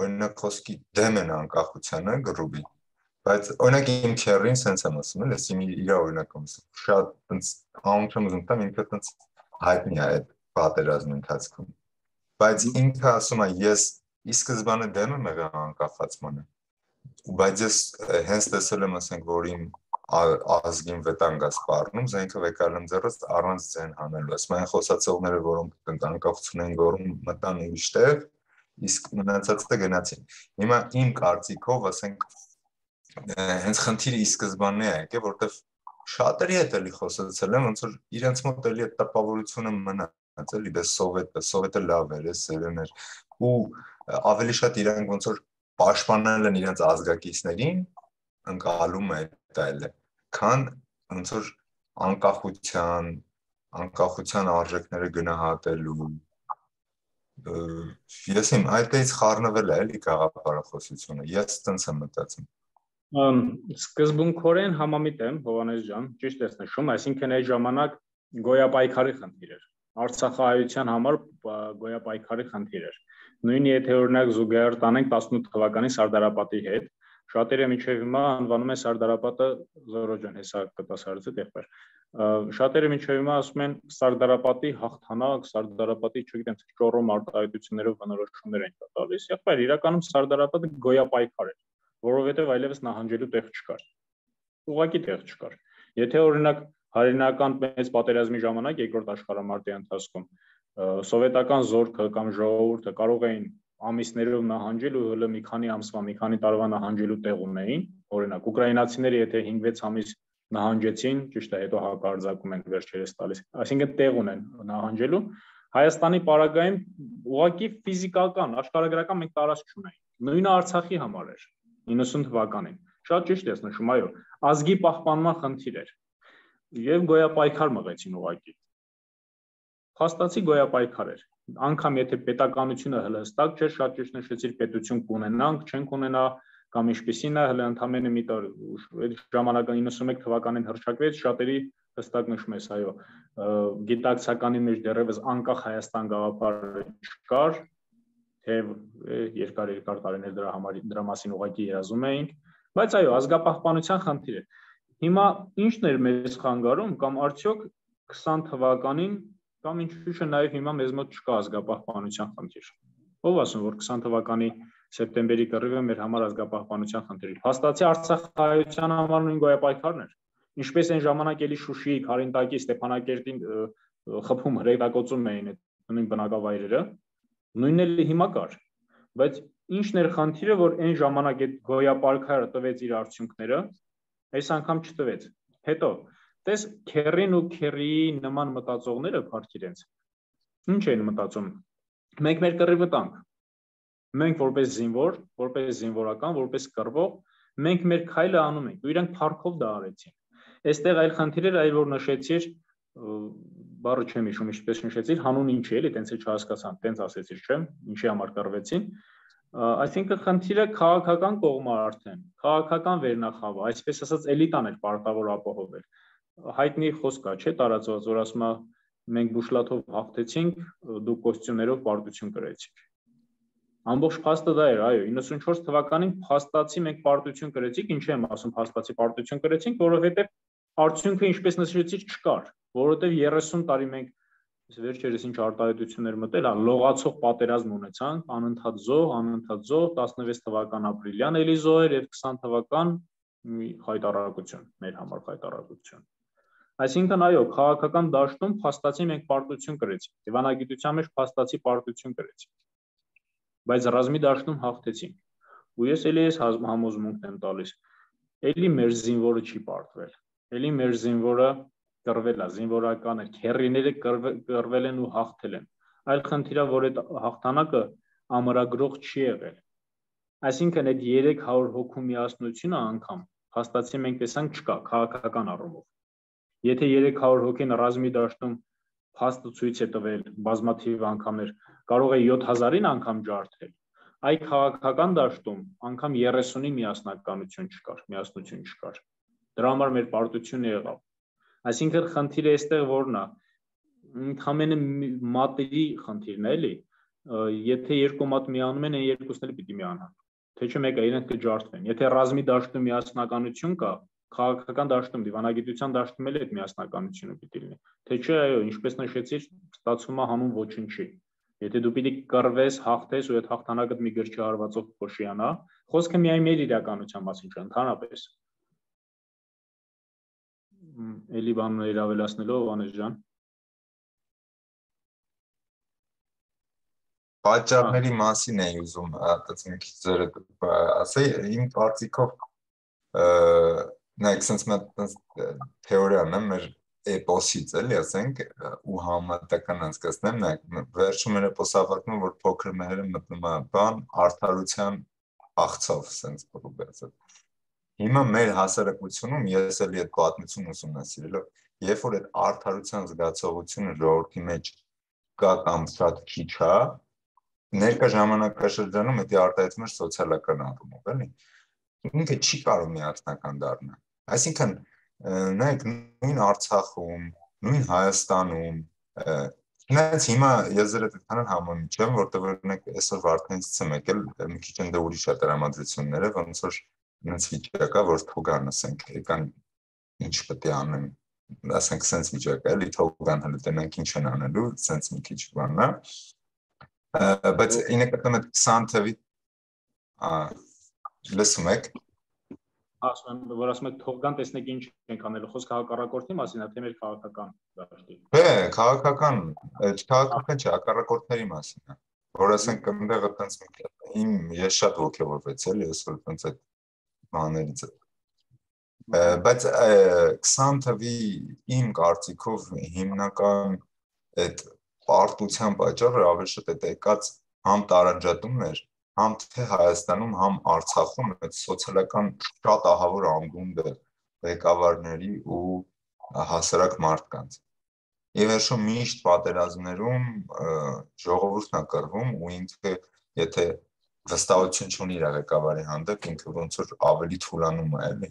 Speaker 3: օրինակ խոսքի դեմ են անկախությանը գրուբի, բայց օրինակ իմ քեռին սենց եմ ասում, ես իմ իր օրինակում շատ անունը ուզում տամ, ինքը տենց հայտնի է այդ պատերազմի ընթացքում, բայց ինքը ասում է ես ի սկզբանե դեմ եմ եղել անկախացմանը, բայց ես հենց տեսել եմ, ասենք, որ իմ ազգին վտանգ է սպառնում, զենքը վեկալ եմ ձեռս առանց ձեն հանելու, ասում այն խոսացողները, որոնք անկախություն են գոռում, մտան ուրիշ տեղ, իսկ մնացածը գնացին։ Հիմա իմ կարծիքով, ասենք, հենց խնդիրը ի սկզբանե է եկել, որտեվ շատերի հետ էլի խոսացել եմ, ոնց որ իրենց մոտ էլի այդ տպավորությունը մնաց, էլի դե սովետը լավ էր, սերն էր, ու ավելի շատ իրանք ոնց որ պաշտպանել են իրենց ազգակիցներին, ընկալում է դա, քան ոնց որ անկախության արժեքները գնահատելու։ Ես իմ այդտեղից խառնվել է էլի գաղափարախոսությունը, ես տենց եմ մտածում։
Speaker 1: Սկզբունքորեն համամիտ եմ, Հովհաննես ջան, ճիշտ ես նշում, այսինքն այդ ժամանակ գոյապայքարի խնդիր էր։ Արցախահայության համար գոյապայքարի խնդիր էր։ Նույն եթե օրինակ զուգահեռ տանենք 18 թվականի Սարդարապատի հետ, շատերը մինչև հիմա անվանում են Սարդարապատը Զորո ջան, հեսա կտաս հարցը եղբայր։ Շատերը մինչև հիմա ասում են Սարդարապատի հաղթանակ, Սարդարապատի, չգիտեմ, ճոռոմ արտահայտություններով բնորոշումներ են տալիս։ Եղբայր, իրականում Սարդարապատը գոյապայքար էր, որովհետև այլևս նահանջելու տեղ չկար։ Ուղղակի տեղ չկար։ Եթե օրինակ հայրենական մեծ պատերազմի ժամանակ երկրորդ աշխարհամարտի ընթացքում սովետական զորքը կամ ժողովուրդը կարող էին ամիսներով նահանջել ու հələ մի քանի ամսվա, մի քանի տարվա նահանջելու տեղ ունեին, օրինակ ուկրաինացիները եթե 5-6 ամիս նահանջեցին, ճիշտ է, հետո հակարձակում են վերջերս տալիս, այսինքն տեղ ունեն նահանջելու, Հայաստանի պարագայում ուղղակի ֆիզիկական, աշխարհագրական մենք տարածք չունեինք։ Նույնը Արցախի համար էր 90 թվականին։ Շատ ճիշտ ես նշում, այո, ազգի պահպանման խնդիր էր։ Եվ գոյապայքար մղեցին ուղղակի։ Փաստացի գոյապայքար էր։ Անկամ եթե պետականությունը հələ հստակ չէր, շատ ճիշտ նշեցիր, պետություն կունենանք, չենք ունենա, կամ ինչպիսին է, հələ ընդամենը մի տար այդ ժամանակը 91 թվականին հռչակվեց, շատերի հստակ նշում ես, այո, գիտակցականի մեջ դեռևս անկախ Հայաստան գաղափարը չկար, թե երկար տարիներ դրա մասին ուղղակի երազում էինք, բայց այո, ազգապահպանության խնդիր է։ Հիմա ի՞նչն էր մեզ խանգարում, կամ արդյոք 20 թվականին, կամ ինչու՞ չէ նաև հիմա մեզ մոտ չկա ազգապահպանության խնդիր։ Ով ասում, որ 20 թվականի սեպտեմբերի կռիվը մեր համար ազգապահպանության խնդիր է։ Փաստացի Արցախահայության համար նույն գոյապայքարն էր։ Ինչպես այն ժամանակ էլի Շուշիի, Քարինտակի, Ստեփանակերտին խփում հրետակոծում էին այդ նույն բնակավայրերը, նույնն էլ հիմա կար, բայց ինչն էր խնդիրը, որ այն ժամանակ այդ գոյապայքարը տվեց իր արդյունքները, այս անգամ չտվեց։ Հետո տես քերին ու քերիի նման մտածողները փառք իրենց, ինչ են մտածում, մենք մեր կռիվը տանք, մենք որպես զինվոր, որպես զինվորական, որպես կռվող, մենք մեր քայլը անում ենք, ու իրանք փառքով դա արեցին։ Այստեղ այլ խնդիր էր, այլ որ նշեցիր, բառը չեմ հիշում, ինչպես նշեցիր, հանուն ինչ է, էլի, տենց էլ չհասկացան, տենց ասեցիր, չեմ, ինչի համար կռվեցին։ Այսինքն խնդիրը քաղաքական կողմը արդեն, քաղաքական վերնախավը, այսպես ասած էլիտան էր պարտավոր ապահովել։ Հայտնի խոսք է, չէ, տարածված, որ ասում է մենք բուշլաթով հաղթեցինք, դուք կոստյումներով պարտություն կրեցիք։ Ամբողջ փաստը դա էր, այո, 94 թվականին փաստացի մենք պարտություն կրեցինք, ինչ եմ ասում, փաստացի պարտություն կրեցինք, որովհետև արդյունքը ինչպես նշեցիր չկար, որովհետև 30 տարի մենք վերջերս ինչ արտահայտություններ մտել, լողացող պատերազմ ունեցանք, անընդհատ զոհ, 16 թվական ապրիլյան էլի զոհեր եւ 20 թվական խայտարարակություն, մեր համար խայտարարակություն։ Այսինքն այո, քաղաքական դաշտում փաստացի մենք պարտություն կրեցինք, դիվանագիտության մեջ փաստացի պարտություն կրեցինք, բայց ռազմի դաշտում հաղթեցինք։ Ու ես էլի այս համոզմունքն եմ տալիս, էլի մեր զինվորը չի պարտվել, էլի մեր զինվորը կռվել է, զինվորական է, քերիները կռվել են ու հաղթել են։ Այլ խնդիրը, որ այդ հաղթանակը ամրագրող չի եղել։ Այսինքն այդ 300 հոգու միասնությունը անգամ փաստացի մենք տեսանք չկա քաղաքական առումով։ Եթե 300 հոգին ռազմի դաշտում փաստը ցույց է տվել բազմաթիվ անգամներ, կարող է 7000-ին անգամ ջարդել, այ քաղաքական դաշտում անգամ 30-ի միասնություն չկար։ Դրա համար մեր պարտությունը եղավ։ Այսինքն խնդիրը այստեղ որն է, ընդհանրապես մատերի խնդիրն է, էլի, եթե երկու մատ միանում են, այն երկուսն էլ պիտի միանան, թե չէ մեկը իրենք կջարդվեն։ Եթե ռազմի դաշտում միասնականություն կա, քաղաքական դաշտում, դիվանագիտության դաշտում էլ այդ միասնականությունը պիտի լինի, թե չէ, այո, ինչպես նշեցիր, ստացվում է հանուն ոչնչի։ Եթե դու պիտի կռվես, հաղթես ու այդ հաղթանակդ մի գրչի հարվածով փոշիանա, խոսքը միայն մեր իրականության մասին չէ, ընդհանրապես։ Էլի բաններ ավելացնելով, Անես ջան։
Speaker 3: Պատճառների մասին էի ուզում այդպես մի քիչ ձերը ասեի, իմ կարծիքով նայեք, sense մեծ թեորիան է մեր էպոսից, էլի ասենք, ու համատական անցկացնեմ, նայեք, վերջում մեր էպոսը ավարտվում, որ փոքր մehերը մտնում է բան արդարության աղցով, sense կոբերցը։ Հիմա մեր հասարակությունում ես էլի այդ պատմությունը ուսումնասիրելով, երբ որ այդ արդարության զգացողությունը ժողովրդի մեջ կա կամ շատ քիչ է, ներկա ժամանակաշրջանում դա արտահայտվում է սոցիալական առումով, էլի։ Ինքը չի կարող միասնական դառնալ։ Այսինքն, նայեք, նույն Արցախում, նույն Հայաստանում, Չնայած հիմա ես ձեր հետ համոզում չեմ, որտեղ օրինակ այսօր Վարդանից եմ եկել, մի քիչ ընդ ուրիշ է տրամադրությունները, ոնց որ ինձ վիճակա, որ թողան, ասենք, եկան ինչ պետք է անեն, ասենք, sense վիճակա, էլի թողան հələ տենանք ինչ են անելու, sense մի քիչ բանա։ Բայց ինը կտամ այդ 20 թվի լսում եք։
Speaker 1: Ասում եմ, որ ասում եք թողան, տեսնեք ինչ ենք անելու, խոսքը հակառակորդի մասին է, թե մեր քաղաքական դաշտի։
Speaker 3: Քաղաքական չէ, հակառակորդների մասին է, որ ասենք այնտեղ այտենց ես շատ ոգևորվեցի, էլի, այսօր այտենց այդ բաներից է։ Բայց 20 թվի իմ կարծիքով հիմնական այդ պարտության պատճառը ավելի շատ է եկած համ տարանջատումն էր, համ թե Հայաստանում, համ Արցախում այդ սոցիալական շատ ահավոր անդունդը ղեկավարների ու հասարակ մարդկանց։ Եվ վերջում միշտ պատերազմներում ժողովուրդն է կռվում ու ինքը եթե վստահություն չունի իր ղեկավարի հանդեպ, ինքը ոնց որ ավելի թուլանում է, էլի։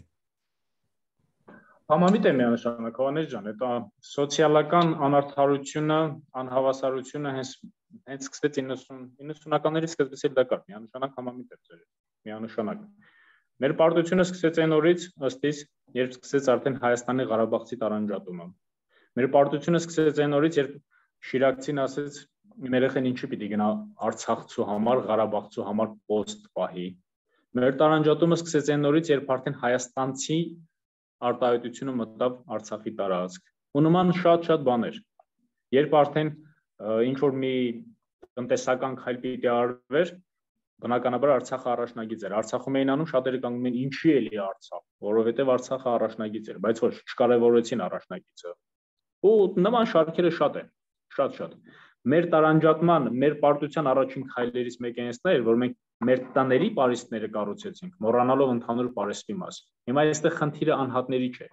Speaker 1: Համամիտ եմ միանշանակ, Հովհաննես ջան, այդ սոցիալական անարդարությունը, անհավասարությունը հենց սկսեց 90-ականների սկզբից էլ դա կար, միանշանակ համամիտ եմ ձեր, միանշանակ։ Մեր պարտությունը սկսեց այն օրից, ըստ իս, երբ սկսեց արդեն Հայաստանի Ղարաբաղցի տարանջատումը։ Մեր պարտությունը սկսեց այն օրից, երբ Շիրակցին ասեց, իմ երեխեն ինչի պիտի գնա Արցախցու համար, Ղարաբաղցու համար պոստ պահի։ Մեր տարանջատումը սկսեց այն օրից, երբ արդեն հայաստանցի արտահայտությունը մտավ Արցախի տարածք։ Ու նման շատ բաներ։ Երբ արդեն ինչ որ մի տնտեսական քայլ պիտի արվեր, բնականաբար Արցախը առաջնագիծ էր։ Արցախում էին անում, շատերը կանգնում են ինչի էլի Արցախ, որովհետև Արցախը առաջնագիծ էր, բայց ոչ չկարևորեցին առաջնագիծը։ Ու նման շարքերը շատ են, շատ։ Մեր տարանջատման, մեր պարտության առաջին քայլերից մեկը այնն էր, որ մենք մեր տաների պարիսպները կառուցեցինք, մոռանալով ընդհանուր պարիսպի մասը։ Հիմա այստեղ խնդիրը անհատների չէ։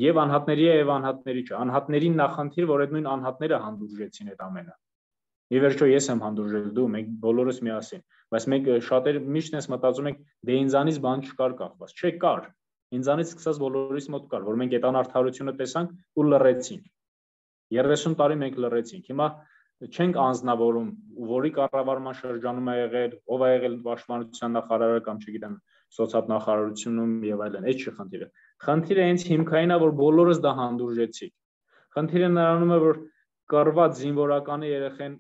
Speaker 1: Եվ անհատների է, եւ անհատների չէ։ Անհատներին նախնդիր, որ այդ նույն անհատները հանդուրժեցին այդ ամենը։ Ի վերջո ես եմ հանդուրժել, դու, մենք բոլորս միասին, բայց մենք շատերը միշտ էս մտածում ենք, դե ինձանից բան չկար կախված։ Չէ, կար։ Ինձանից սկսած բոլորիս մոտ կար, որ մենք այդ անարդարությունը տեսանք ու լռեցինք։ 30 տարի մենք լռեցինք։ Հիմա չենք անձնավորում, որի կառավարման շրջանում է եղել, ով է եղել պաշտպանության նախարարը կամ չգիտեմ, սոցիալնախարարությունում եւ այլն, այդ չի խնդիրը։ Խնդիրը հենց հիմքային է, որ բոլորս դա հանդուրժեցինք։ Խնդիրը նրանում է, որ կռված զինվորականի երեխեն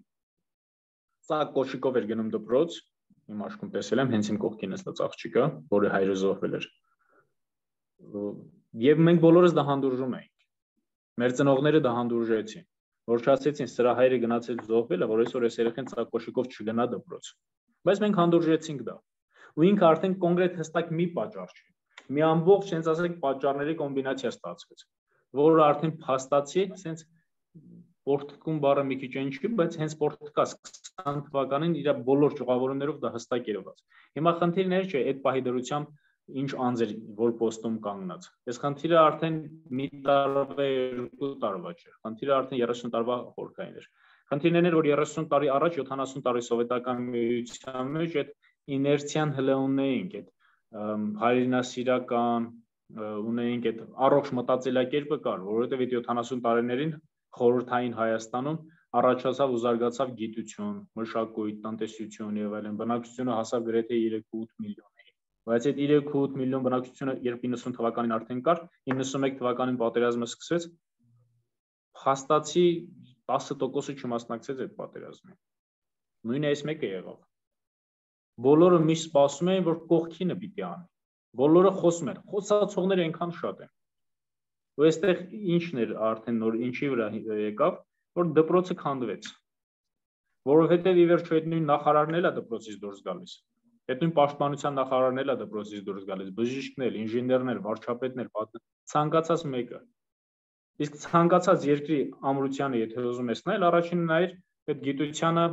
Speaker 1: ծակ կոշիկով էր գնում դպրոց, իմ աշկում տեսել եմ, հենց իմ կողքին էստաց աղջիկը, որի հայրը զոհվել էր։ Եվ մենք բոլորս դա հանդուրժում էինք։ Մեր ծնողները դա հանդուրժեցին, որ չասեցին սրա հայրը գնացել զոհվել է, որ այսօր այս երեխեն ծակկոշիկով չգնա դպրոց։ Բայց մենք հանդուրժեցինք դա։ Ու ինքը արդեն կոնկրետ հստակ մի պատճառ չէ։ Մի ամբողջ, sense ասենք, պատճառների կոմբինացիա ստացվեց, որը արդեն փաստացի, sense Պորտկում բառը մի քիչ ինչի, բայց հենց Պորտկա 20 թվականին իր բոլոր ճյուղավորումներով դա հստակ երևաց։ Հիմա խնդիրներ չէ, այդ պահի դրությամբ ինչ անձեր որ պոստում կանգնած։ Այս խնդիրը արդեն մի տարվա 2 տարվա չէ։ Խնդիրը արդեն 30 տարվա խորքային էր։ Խնդիրներն էր, որ 30 տարի առաջ 70 տարի սովետական միության մեջ այդ իներցիան հլը ունեինք, այդ հայրենասիրական ունեինք, այդ առողջ մտածելակերպը կար, որովհետև այդ 70 տարիներին խորհրդային Հայաստանում առաջացավ ու զարգացավ գիտություն, մշակույթ, տնտեսություն եւ այլն, բնակչությունը հասավ գրեթե 3.8 միլիոնի։ Բայց այդ 3.8 միլիոն բնակչությունը երբ 90 թվականին արդեն կար, 91 թվականին պատերազմը սկսեց, փաստացի 10%-ը չմասնակցեց այդ պատերազմին։ Նույնը այս մեկը եղավ։ Բոլորը միշտ սպասում էին, որ կողքինը պիտի անի։ Բոլորը խոսում են, խոսացողները այնքան շատ են։ Ու այստեղ ինչն էր արդեն նոր ինչի վրա եկավ, որ դպրոցը քանդվեց։ Որովհետև ի վերջո այդ նույն նախարարն էլ է դպրոցից դուրս գալիս։ Այդ նույն պաշտպանության նախարարն էլ է դպրոցից դուրս գալիս, բժիշկներ, ինժեներներ, վարչապետներ, ցանկացած մեկը։ Իսկ ցանկացած երկրի ամրությանը, եթե ուզում ես նայել, առաջինը նայր այդ գիտությանը,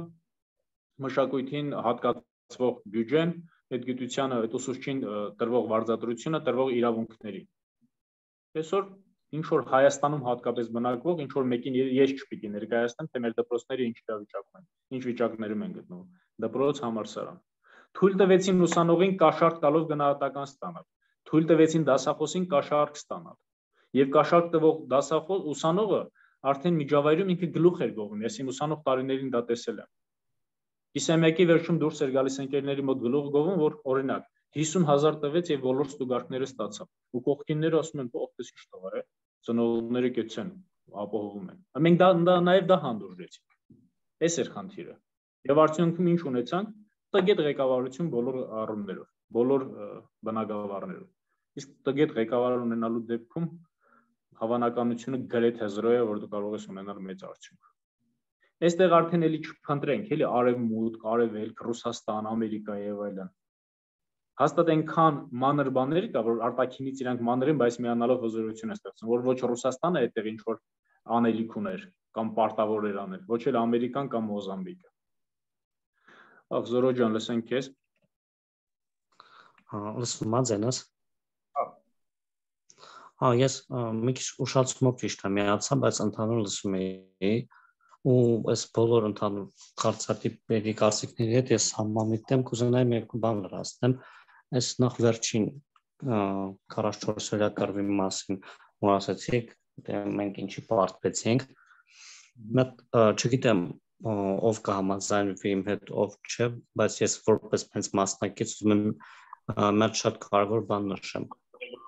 Speaker 1: մշակույթին հատկացվող բյուջեն, այդ գիտությանը, այդ ուսուցչին տրվող վարձատրությունը, տրվող իրավունքներին։ Այսօր ինչ որ Հայաստանում հատկապես բնակվող, ինչ որ մեկին ես չպիտի ներկայացնեմ, թե մեր դպրոցները ինչ իրավիճակում են, ինչ վիճակներում են գտնվում։ Դպրոց, համալսարան։ Թույլ տվեցին ուսանողին կաշառք տալով գնահատական ստանալ։ Թույլ տվեցին դասախոսին կաշառք ստանալ։ Եվ կաշառք տվող դասախոս ուսանողը արդեն միջավայրում ինքը գլուխ էր գովում, ես իմ ուսանող տարիներին դա տեսել եմ։ Իսեմեկի վերջում դուրս էր գալիս ընկերների մոտ գլուխ գովում, որ օրինակ 50,000 տվեց եւ բոլոր ստուգարքները ստացավ։ Ու կողքինները ասում են, «Ո՞ղտես ինչ տղա է»։ Ծնողները կեցեն, ապահովում են։ Մենք դա նաեւ դա հանդուրժեցինք։ Այս էր խնդիրը։ Եվ արդյունքում ինչ ունեցանք, տգետ ղեկավարություն բոլոր առումներով, բոլոր բնակավարներով։ Իսկ տգետ ղեկավար ունենալու դեպքում հավանականությունը գրեթե 0 է, որ դու կարող ես ունենալ մեծ արդյունք։ Այստեղ արդեն էլի չփնտրենք, էլի արևմուտք, արևելք, Ռուսաստան, Ամերիկա եւ այլն։ Հաստատ այնքան մանր բաներ կա, որ արտաքինից իրանք մանր են, բայց միանալով հզորություն է ստեղծում, որ ոչ Ռուսաստանը այդտեղ ինչ որ անելիք ուներ կամ պարտավոր էր անել, ոչ էլ Ամերիկան կամ Մոզամբիկը։ Ախ, Զորո ջան, լսենք քեզ։
Speaker 2: Լսում ես։ Ես մի քիչ ուշացումով ճիշտ եմ միացա, բայց ընդհանուր լսում էի ու այս բոլոր ընդհանուր կարծրատիպերի կարծիքների հետ ես համամիտ եմ, կուզենայի մի երկու բան լրացնեմ։ Այս նախ վերջին 44 օրյա կռվի մասին որ ասացիք, մենք ինչի պարտվեցինք, չգիտեմ, ով կհամաձայնվի իմ հետ, ով չէ, բայց ես որպես հենց մասնակից ուզում եմ մեր շատ կարևոր բան նշեմ։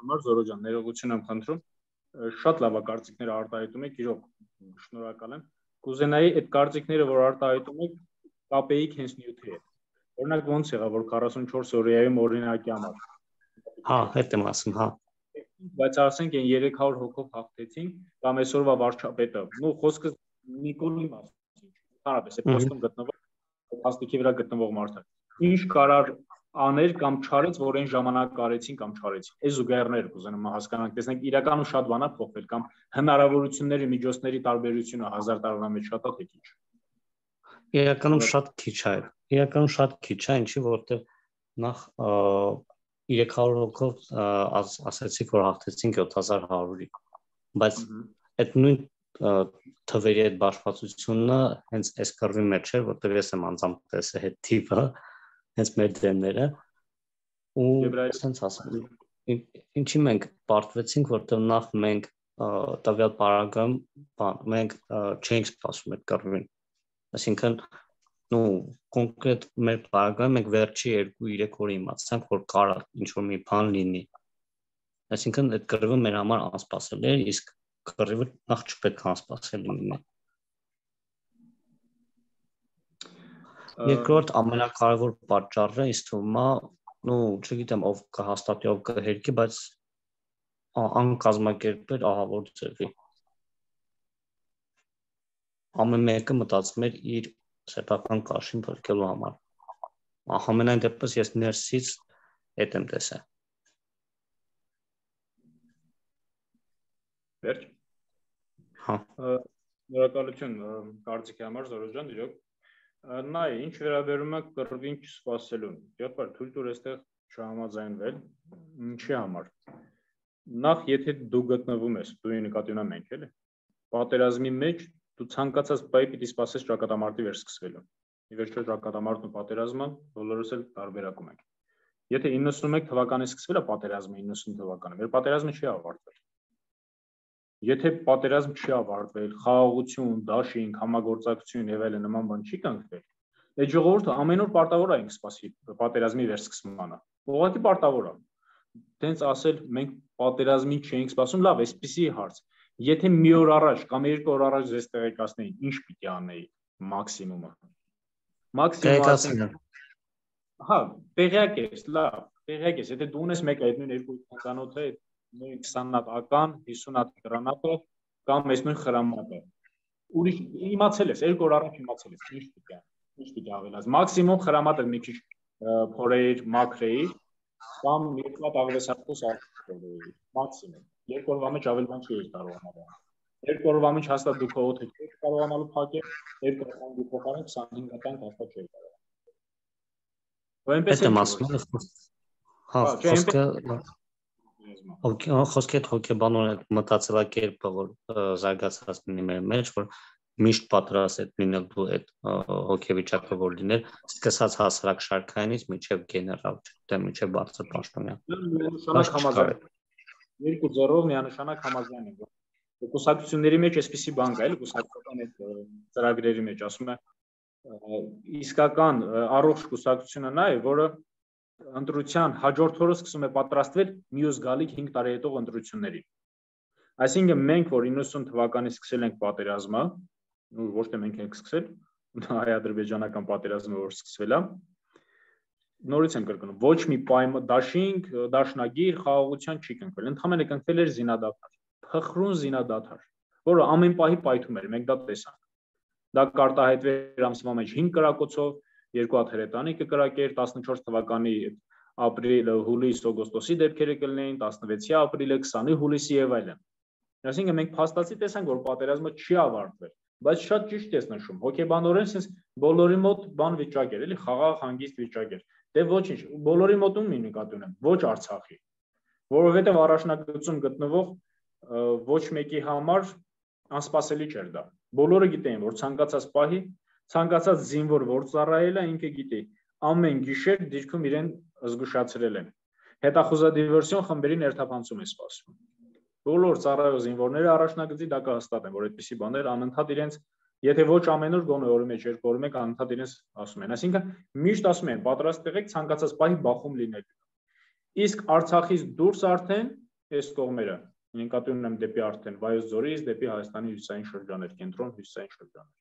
Speaker 1: Համար Զորո ջան, ներողություն եմ խնդրում, շատ լավ է կարծիքները արտահայտում եք, իրոք շնորհակալ եմ։ Կուզենայի այդ կարծիքները, որ արտահայտում եք, կապեիք հենց նյութի հետ։ Օրինակ ոնց եղավ, որ 44 օրյայում օրինակի համար։
Speaker 2: Հա, հետ եմ ասում, հա։
Speaker 1: Բայց ասենք այն 300 հոգով հաղթեցինք, կամ այսօրվա վարչապետը, նու խոսքը Նիկոլի մասին, հարաբես է պոստում գտնվող, հաստիքի վրա գտնվող մարդը։ Ինչ կարար աներ կամ չարեց, որ այն ժամանակ արեցին կամ չարեցին։ Այս զուգահեռները կուզենամ հասկանանք, տեսնենք իրականում շատ բան է փոխվել կամ հնարավորությունների, միջոցների տարբերությունը 1000 տարվա մեջ շատ է թե քիչ։
Speaker 2: Իրականում շատ քիչ է։ Իրականում շատ քիչ է, ինչի որտեղ նախ 300 հոգով ասացիք, որ հաղթեցինք 7100-ի, բայց այդ նույն թվերի այդ բաշխվածությունը հենց այս կռվի մեջ էր, որտեղ ես եմ անձամբ տեսել այդ թիվը, հենց մեր դեմները, ու ասենց ասեմ, ինչի մենք պարտվեցինք, որտեղ նախ մենք տվյալ պարագայում մենք չէինք սպասում այդ կռվին, այսինքն կոնկրետ մեր պարագայում մենք վերջի 2-3 օրը իմացանք, որ կարա ինչ-որ մի բան լինի, այսինքն այդ կռվը մեր համար անսպասելի էր, իսկ կռվը նախ չպետք է անսպասելի լինի։ Երկրորդ ամենակարևոր պատճառը ինձ թվում է, չգիտեմ ով կհաստատի, ով կհերկի, բայց անկազմակերպել ահավոր ձևի։ Ամեն մեկը մտածում էր իր սեփական կաշին փրկելու համար։ Ամենայն դեպս ես ներսից այդ եմ տեսել։
Speaker 1: Վերջ։
Speaker 2: Հա։
Speaker 1: Շնորհակալություն կարծիքի համար Զորո ջան, իրոք։ Նայ, ինչ վերաբերում է կռվին չսպասելուն։ Եղբայր, թույլ տուր այստեղ չհամաձայնվել։ Ինչի համար։ Նախ, եթե դու գտնվում ես, դու նկատի ունեմ մենք, էլի։ Պատերազմի մեջ դու ցանկացած բայ պիտի սպասես ճակատամարտի վերսկսվելուն։ Ի վերջո ճակատամարտն ու պատերազմը բոլորս էլ տարբերակում ենք։ Եթե 91 թվականից սկսվել է պատերազմը 90 թվականը, մեր պատերազմը չի ավարտվել։ Եթե պատերազմ չի ավարտվել, խաղաղություն, դաշինք, համագործակցություն եւ այլն նման բան չի կնքվել, այդ ժողովուրդը ամեն օր պարտավոր է ինք սպասի պատերազմի վերսկսմանը։ Ուղղակի պարտավոր է։ Տենց ասել մենք պատերազմին չէինք սպասում, լավ, այսպեսի հարց։ Եթե մի օր առաջ կամ 2 օր առաջ ձեզ տեղեկացնեին, ինչ պիտի անեի մաքսիմումը։ Մաքսիմում հա, տեղյակ ես, լավ, տեղյակ ես, եթե դու ունես մեկ այդ նույն երկու ցանոթը, նույն 20 հատ ական, 50 հատ գրանատը կամ այս նույն խրամատը։ Ուրիշ իմացել ես, 2 օր առաջ իմացել ես, ինչ պիտի ավելաս։ Մաքսիմում խրամատը մի քիչ փորեիր, մաքրեիր կամ մի հատ աղվեսախոս արժեի, մաքսիմում։ 2 օրվա մեջ ավել բան չի կարողանալ։ 2 օրվա մեջ հաստատ դու քո օդը չես կարողանալու փակել, 2 օրվա դու փոխարեն 25 հատ հաստատ չի կարող։ Այնպես է ասում։
Speaker 2: Հա, խոսքը հոգեբանորեն մտածելակերպը, որ զարգացած լինի մեր մեջ, որ միշտ պատրաստ է լինելու այդ հոգեվիճակը, որ լիներ, սկսած հասարակ շարքայինից մինչև գեներալ, մինչև բարձր պաշտոնյա։
Speaker 1: Երկու ձեռով միանշանակ համաձայն եմ, որ կուսակցությունների մեջ այսպիսի բան կա, էլի կուսակցական այդ ծրագրերի մեջ ասում է իսկական առողջ կուսակցությունը նա է, որը ընտրության հաջորդ օրը սկսում է պատրաստվել մյուս գալիք 5 տարի հետո ընտրություններին։ Այսինքն մենք, որ 90 թվականից սկսել ենք պատերազմը, ոչ թե մենք ենք սկսել, հայ-ադրբեջանական պատերազմը որ սկսվել է, նորից եմ կրկնում, ոչ մի դաշինք, դաշնագիր, խաղաղության չի կնքվել, ընդհանրապես կնքվել էր զինադադար, փխրուն զինադադար, որը ամեն պահի պայթում էր, մենք դա տեսանք։ Դա կարտահայտվեր ամսվա մեջ 5 կրակոցով, 2 հատ հրետանի կկրակեր, 14 թվականի ապրիլ, հուլիս, օգոստոսի դեպքերը կլինեին, 16-ի ապրիլը, 20-ի հուլիսի եւ այլն։ Այսինքն մենք փաստացի տեսանք, որ պատերազմը չի ավարտվել, բայց շատ ճիշտ ես նշում, հոգեբանորեն sense բոլորի մոտ բան վիճակ էր, էլի խաղաղ հանգիստ վիճակ էր։ Դե ոչինչ, բոլորի մոտում մի նկատի ունեմ, ոչ Արցախի, որովհետեւ առաջնագծում գտնվող ոչ մեկի համար անսպասելի չէր դա։ Բոլորը գիտեին, որ ցանկացած պահի, ցանկացած զինվոր որ ծառայել է, ինքը գիտի, ամեն գիշեր դիրքում իրեն զգուշացրել են։ Հետախուզադիվերսիոն խմբերի ներթափանցում է սպասվում։ բոլոր ծառայող զինվորները առաջնագծի դա կհաստատեն, որ այդպիսի բաներ անընդհատ իրենց, եթե ոչ ամեն օր գոնե օրի մեջ երկու օրի մեկ անընդհատ իրենց ասում են, այսինքն միշտ ասում են պատրաստ եղեք ցանկացած պահի բախում լինելու։ Իսկ Արցախից դուրս արդեն այս կողմերը, նկատի ունեմ դեպի արդեն Վայոց ձորից, դեպի Հայաստանի հյուսիսային շրջաններ, կենտրոն հյուսիսային շրջաններ։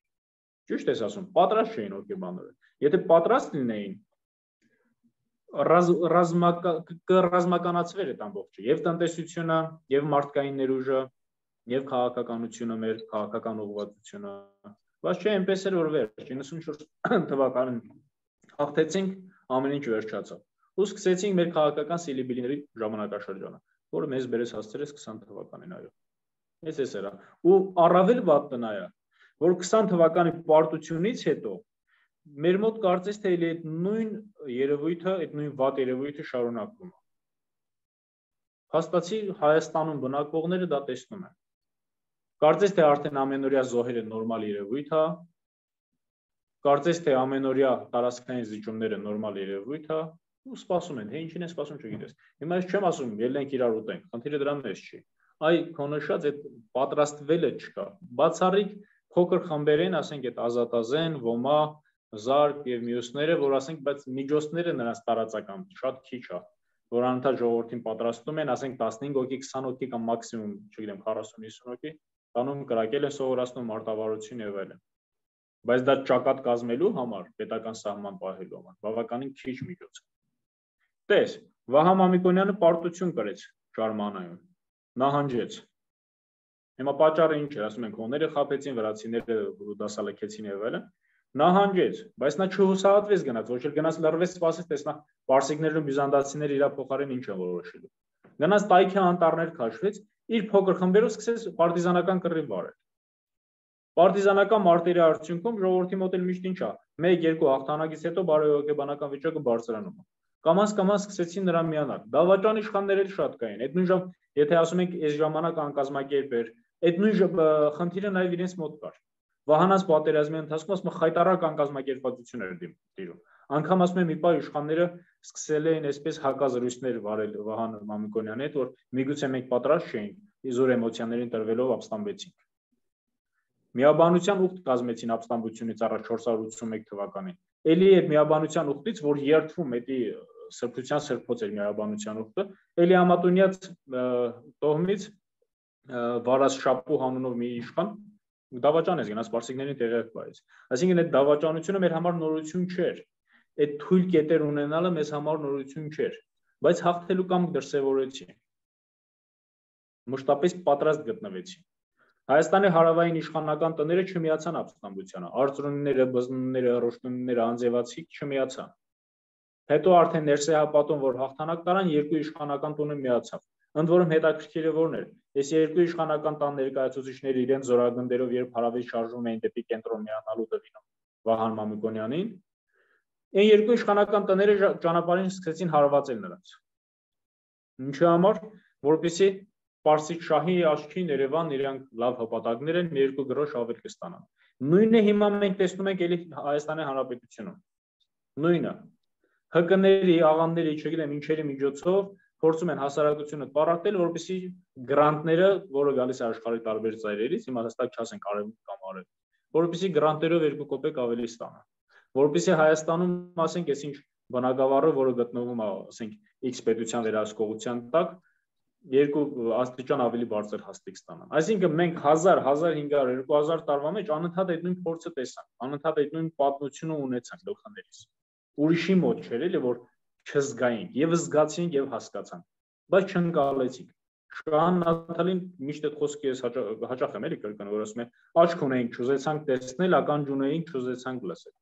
Speaker 1: Ճիշտ ես ասում, պատրաստ չէին օկեբաները։ Եթե պատրաստ լինեին, կռազմականացվեր այդ ամբողջը, եւ տնտեսությունը, եւ մարդկային ներուժը, եւ քաղաքականությունը, մեր քաղաքական ուղղվածությունը, բայց չէ, այնպես էր որ վերջ 94 թվականին հաղթեցինք, ամեն ինչ վերջացավ։ Ու սկսեցինք մեր քաղաքական սիլիբիլիների ժամանակաշրջանը, որը մեզ բերեց հասցրեց 20 թվականին, այո։ Այս էրա։ Ու առավել վատն այա, որ 20 թվականի պարտությունից հետո մեր մոտ կարծես թե այդ նույն երևույթը, այդ նույն վատ երևույթը շարունակվում է։ Հաստատի Հայաստանում բնակվողները դա տեսնում են։ Կարծես թե արդեն ամենօրյա զոհերը նորմալ երևույթ է, կարծես թե ամենօրյա տարածքային զիջումները նորմալ երևույթ է, ու սպասում են, թե ինչին են սպասում չգիտես։ Հիմա ես չեմ ասում, ելնենք իրար ուտենք, խնդիրը դրա մեջ չի։ Այ քո նշած այդ պատրաստվելը չկա։ Բացառիկ փոքր խմբերեն, ասենք այդ Ազատազեն, Ոմա, Զարկ եւ մյուսները, որ ասենք, բայց միջոցները նրանց տարածական շատ քիչ է, որ անընդհատ ժողովրդին պատրաստում են, ասենք 15 հոգի, 20 հոգի կամ մաքսիմում, չգիտեմ, 40-50 հոգի, տանում կրակել են սովորացնում մարտավարություն եւ այլն։ Բայց դա ճակատ կազմելու համար, պետական սահման պահելու համար, բավականին քիչ միջոց է։ Տես, Վահա Մամիկոնյանը պարտություն կրեց Շարմանայում, նահանջեց։ Հիմա պատճառը ինչ է, ասում են, հոները խաբեցին, վրացիները դասալքեցին եւ այլն, նահանջեց, բայց նա չհուսահատվեց գնաց, ոչ էլ գնաց լռվեց, սպասեց, տեսնա պարսիկներն ու բյուզանդացիները իր փոխարեն ինչ են որոշելու։ Գնաց տայքի անտառներ քաշվեց, իր փոքր խմբերով սկսեց պարտիզանական կռիվ վարել։ Պարտիզանական մարտերի արդյունքում ժողովրդի մոտ էլ միշտ ինչ է, 1-2 հաղթանակից հետո բարոյական վիճակը բարձրանում է։ Կամաց սկսեցին նրան միանալ։ Դավաճան իշխաններ էլ շատ կային։ Այդ նույն ժամ, եթե ասում ենք, այս ժամանակ անկազմակերպ էր, այդ նույն խնդիրը նաև իրենց մոտ կար։ Վահանաց պատերազմի ընթացքում ասում խայտարակ անկազմակերպվածություն էր դիրում։ Անգամ ասում եմ մի պահ իշխանները սկսել էին այսպես հակազրույցներ վարել Վահան Մամիկոնյանի հետ, որ միգուցե մենք պատրաստ չէինք, իզուր էմոցիաներին տրվելով ապստամբեցինք։ Միաբանության ուխտ կազմեցին ապստամբությունից առաջ 481 թվականին։ Էլի այդ միաբանության ուխտից, որ երթվում էդի սրբության սրբոց էր միաբանության ուխտը, էլի Ամատունյաց տոհմից Վարազ Շապու հանունով մի իշխան դավաճան է գնաց պարսիկներին տեղյակ բերեց։ Այսինքն այդ դավաճանությունը մեր համար նորություն չէր։ Այդ թույլ կետեր ունենալը մեզ համար նորություն չէր, բայց հաղթելու կամք դրսևորեցի։ Մշտապես պատրաստ գտնվեցի։ Հայաստանի հարավային իշխանական տները չմիացան ապստամբությանը, արծրունիները, բզնունները, ռոշտունիները, անձևացիք չմիացան։ Հետո արդեն ներսեհապատում, որ հաղթանակ տարան, երկու իշխանական տունը միացավ։ Ընդ որում հետաքրքիրը որն էր, այս երկու իշխանական տան ներկայացուցիչները իրենց զորագնդերով երբ հարավից շարժվում էին դեպի կենտրոն միանալու դեպինում Վահան Մամիկոնյանին, այն երկու իշխանական տները ճանապարհին սկսեցին հարվածել նրանց։ Ինչի համար, որպեսզի Պարսիկ շահի աչքին Երևան իրանք լավ հպատակներ են, մի երկու գրոշ ավել կստանան։ Նույնը հիմա մենք տեսնում ենք էլի Հայաստանի Հանրապետությունում։ Նույնը ՀԿ-ների, աղանների, չգիտեմ ինչերի միջոցով փորձում են հասարակությունը պարարտել, որպեսզի գրանտները, որը գալիս է աշխարհի տարբեր ծայրերից, հիմա հստակ չասենք արևմուտք կամ արև, որպեսզի գրանտերով 2 կոպեկ ավելի ստանան, որպեսզի Հայաստանում, ասենք, այսինչ բնակավարը, որը գտնվում է, ասենք, X պետության վերահսկողության տակ, 2 աստիճան ավելի բարձր հաստիկ ստանան։ Այսինքն մենք 1000, 1500, 2000 տարվա մեջ անընդհատ այդ նույն փորձը տեսանք, անընդհատ այդ նույն պատմությունը ունեցանք գլխներից։ Ուրիշի մոտ չէր էլի, որ չզգայինք, եւ զգացինք եւ հասկացանք, բայց չընկալեցինք։ Շահան Նաթալին միշտ այդ խոսքը ես հաճախ եմ էլի կրկնում, որ ասում է աչք ունեինք, չուզեցանք տեսնել, ականջ ունեինք, չուզեցանք լսել։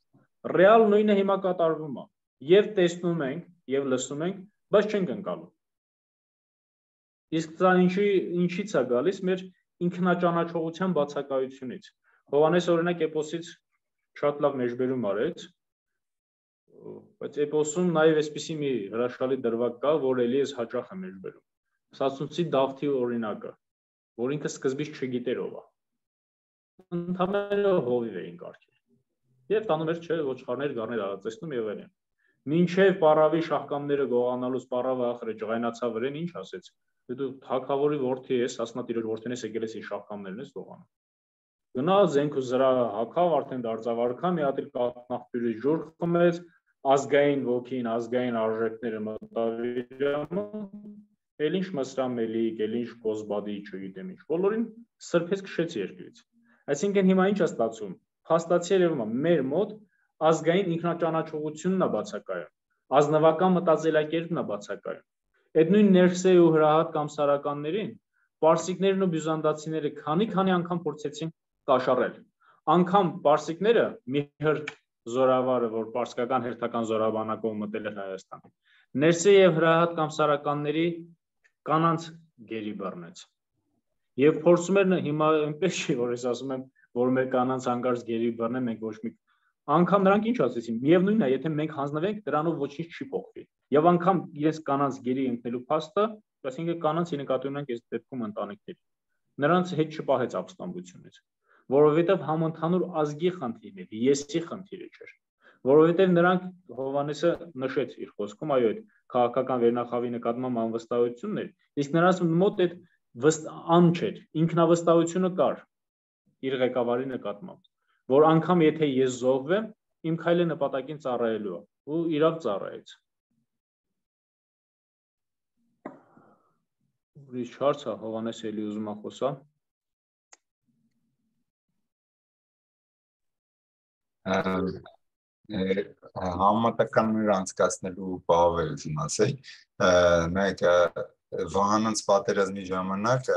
Speaker 1: Ռեալ նույնը հիմա կատարվում է։ Եվ տեսնում ենք, եւ լսում ենք, բայց չենք ընկալում։ Իսկ դա ինչից է գալիս մեր ինքնաճանաչողության բացակայությունից։ Հովհաննես օրինակ էպոսից շատ լավ մեջբերում արեց, բայց էպոսում նաև այսպիսի մի հրաշալի դրվագ կա, որ էլի ես հաճախ եմ մեջբերում։ Սասունցի Դավթի օրինակը, որ ինքը սկզբից չգիտեր ով է։ Ընդհանրապես հովիվ էին կարգել։ Եվ տանում էր չէ ոչխարներ, գառներ արածեցնում եւ այլն։ Մինչև պարավի շահկամները գողանալուց պարավը ախր ջղայնացավ վրեն, ինչ ասեց։ Դու թագավորի որդի ես, ասնա տիրոջ որդին ես, եկել ես իր շահկամներն ես գողանում։ Գնա զենք ու զրա հակավ, արդեն դարձավ արքա, մի հատ էլ կատնախտյուրի ջուր խմեց, ազգային ոգին, ազգային արժեքները մտավ իրամը, էլ ինչ մսրամելիք, էլ ինչ կոզբադի, չգիտեմ ինչ, բոլորին սրբեց քշեց երկրից։ Այսինքն հիմա ինչ է ստացվում։ Փաստացի երևում է մեր մոտ ազգային ինքնաճանաչողությունն է բացակայում, ազնվական մտածելակերպն է բացակայում։ Այդ նույն Ներսեի ու Հրահատ կամսարականներին պարսիկներն ու բյուզանդացիները քանի անգամ փորձեցին կաշառել։ Անգամ պարսիկները Միհր զորավարը, որ պարսկական հերթական զորաբանակով մտել էր Հայաստան, Ներսեի եւ Հրահատ կամսարականների կանանց գերի բռնեց։ Եվ փորձում էր հիմա այնպես չի, որ ես ասում եմ, որ մեր կանանց հանկարծ գերի բռնեն, մենք ոչ մի անգամ նրանք ինչ ասեցին, միևնույնն է, եթե մենք հանձնվենք, դրանով ոչինչ չի փոխվի։ Եվ անգամ իրենց կանանց գերի ընկնելու փաստը, այսինքն կանանց նկատի ունենք այս դեպքում ընտանիքների։ Նրանց հետ չպահեց ապստամբությունից, որովհետև համընդհանուր ազգի խնդիրն էր, եսի խնդիրը չէր։ Որովհետև նրանք Հովհաննեսը նշեց իր խոսքում, այո, այդ քաղաքական վերնախավի նկատմամբ անվստահությունն էր, իսկ նրանց մոտ այդ ան չէր, ինքնավստահությունը կար իր ղեկավարի նկատմամբ, որ անգամ եթե ես զոհվեմ, իմ քայլը նպատակին ծառայելու է, ու իրավ ծառայեց։ Ուրիշ հարց է, Հովհաննես էլի ուզում է խոսա։
Speaker 3: Համատականներ անցկացնելու բավը ուզում ասել, նայեք Վահանանց պատերազմի ժամանակ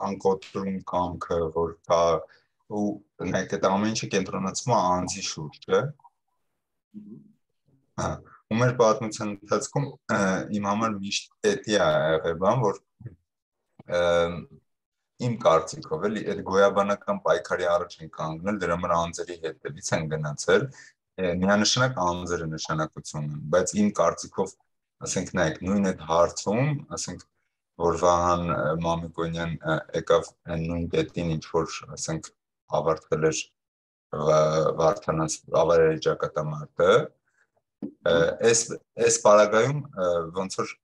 Speaker 3: անկոտրում կամքը, որ կա ու նայեք այդ ամեն ինչը կենտրոնացվում է անձի շուրջը։ Ու մեր պատմության ընթացքում իմ համար միշտ պետք է եղել բան, որ իմ կարծիքով էլի այդ գոյաբանական պայքարի առաջ են կանգնել, դրա համար անձերի հետևից են գնացել, միանշանակ անձերը նշանակություն ունեն, բայց իմ կարծիքով, ասենք նայեք, նույն այդ հարցում, ասենք որ Վահան Մամիկոնյան եկավ նույն կետին, ինչ որ ասենք ավարտվել էր Վարդանանց ավարերի ճակատամարտը, այս պարագայում ոնց որ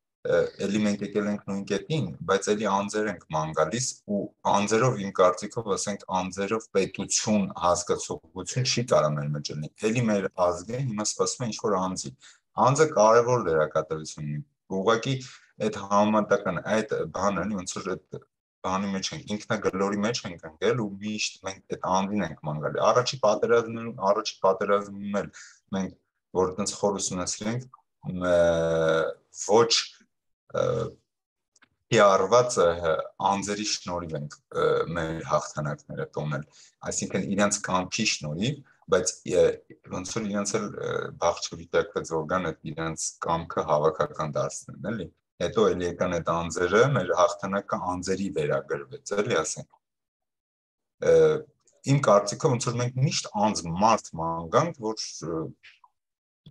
Speaker 3: էլի մենք եկել ենք նույն կետին, բայց էլի անձեր ենք ման գալիս ու անձերով իմ կարծիքով, ասենք անձերով պետություն, հասկացողություն չի կարող մեր մեջ լինի։ Էլի մեր ազգը հիմա սպասում է ինչ-որ անձի։ Անձը կարևոր դերակատարություն ունի։ Ուղղակի այդ համատական այդ բանը ոնց որ այդ բանի մեջ ենք, ինքնագլորի մեջ ենք ընկել ու միշտ մենք այդ անձին ենք ման գալի։ Առաջի պատերազմում էլ մենք որ այդպես խորս ունեցրենք ոչ PR-ված անձերի շնորհիվ ենք մեր հաղթանակները տոնել, այսինքն իրենց կամքի շնորհիվ, բայց ոնց որ իրենց էլ բաղջավիճակված օրգան այդ իրենց կամքը հավաքական դարձնեն, էլի։ Հետո էլ եկան այդ անձերը, մեր հաղթանակը անձերի վերագրվեց, էլի ասենք։ Իմ կարծիքով ոնց որ մենք միշտ անձ մարդ մանկանք, որ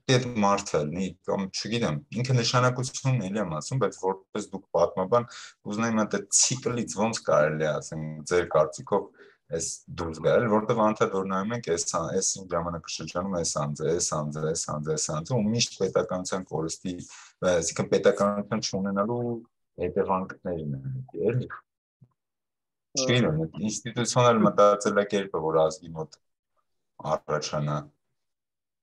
Speaker 3: այդ մարդը լինի, կամ չգիտեմ, ինքը նշանակությունն էլի եմ ասում, բայց որպես դուք պատմաբան, ուզենայի մատ այդ ցիկլից ոնց կարելի է ասենք ձեր կարծիքով այս դուրս գալ, որտեղ անդադ որ նայում ենք այս ժամանակաշրջանում այս անձը, ու միշտ պետականության կորստի, այսինքն պետականություն չունենալու հետևանքներն են, էլի։ Չգիտեմ, ինստիտուցիոնալ մտածելակերպը, որ ազգի մոտ առաջանա։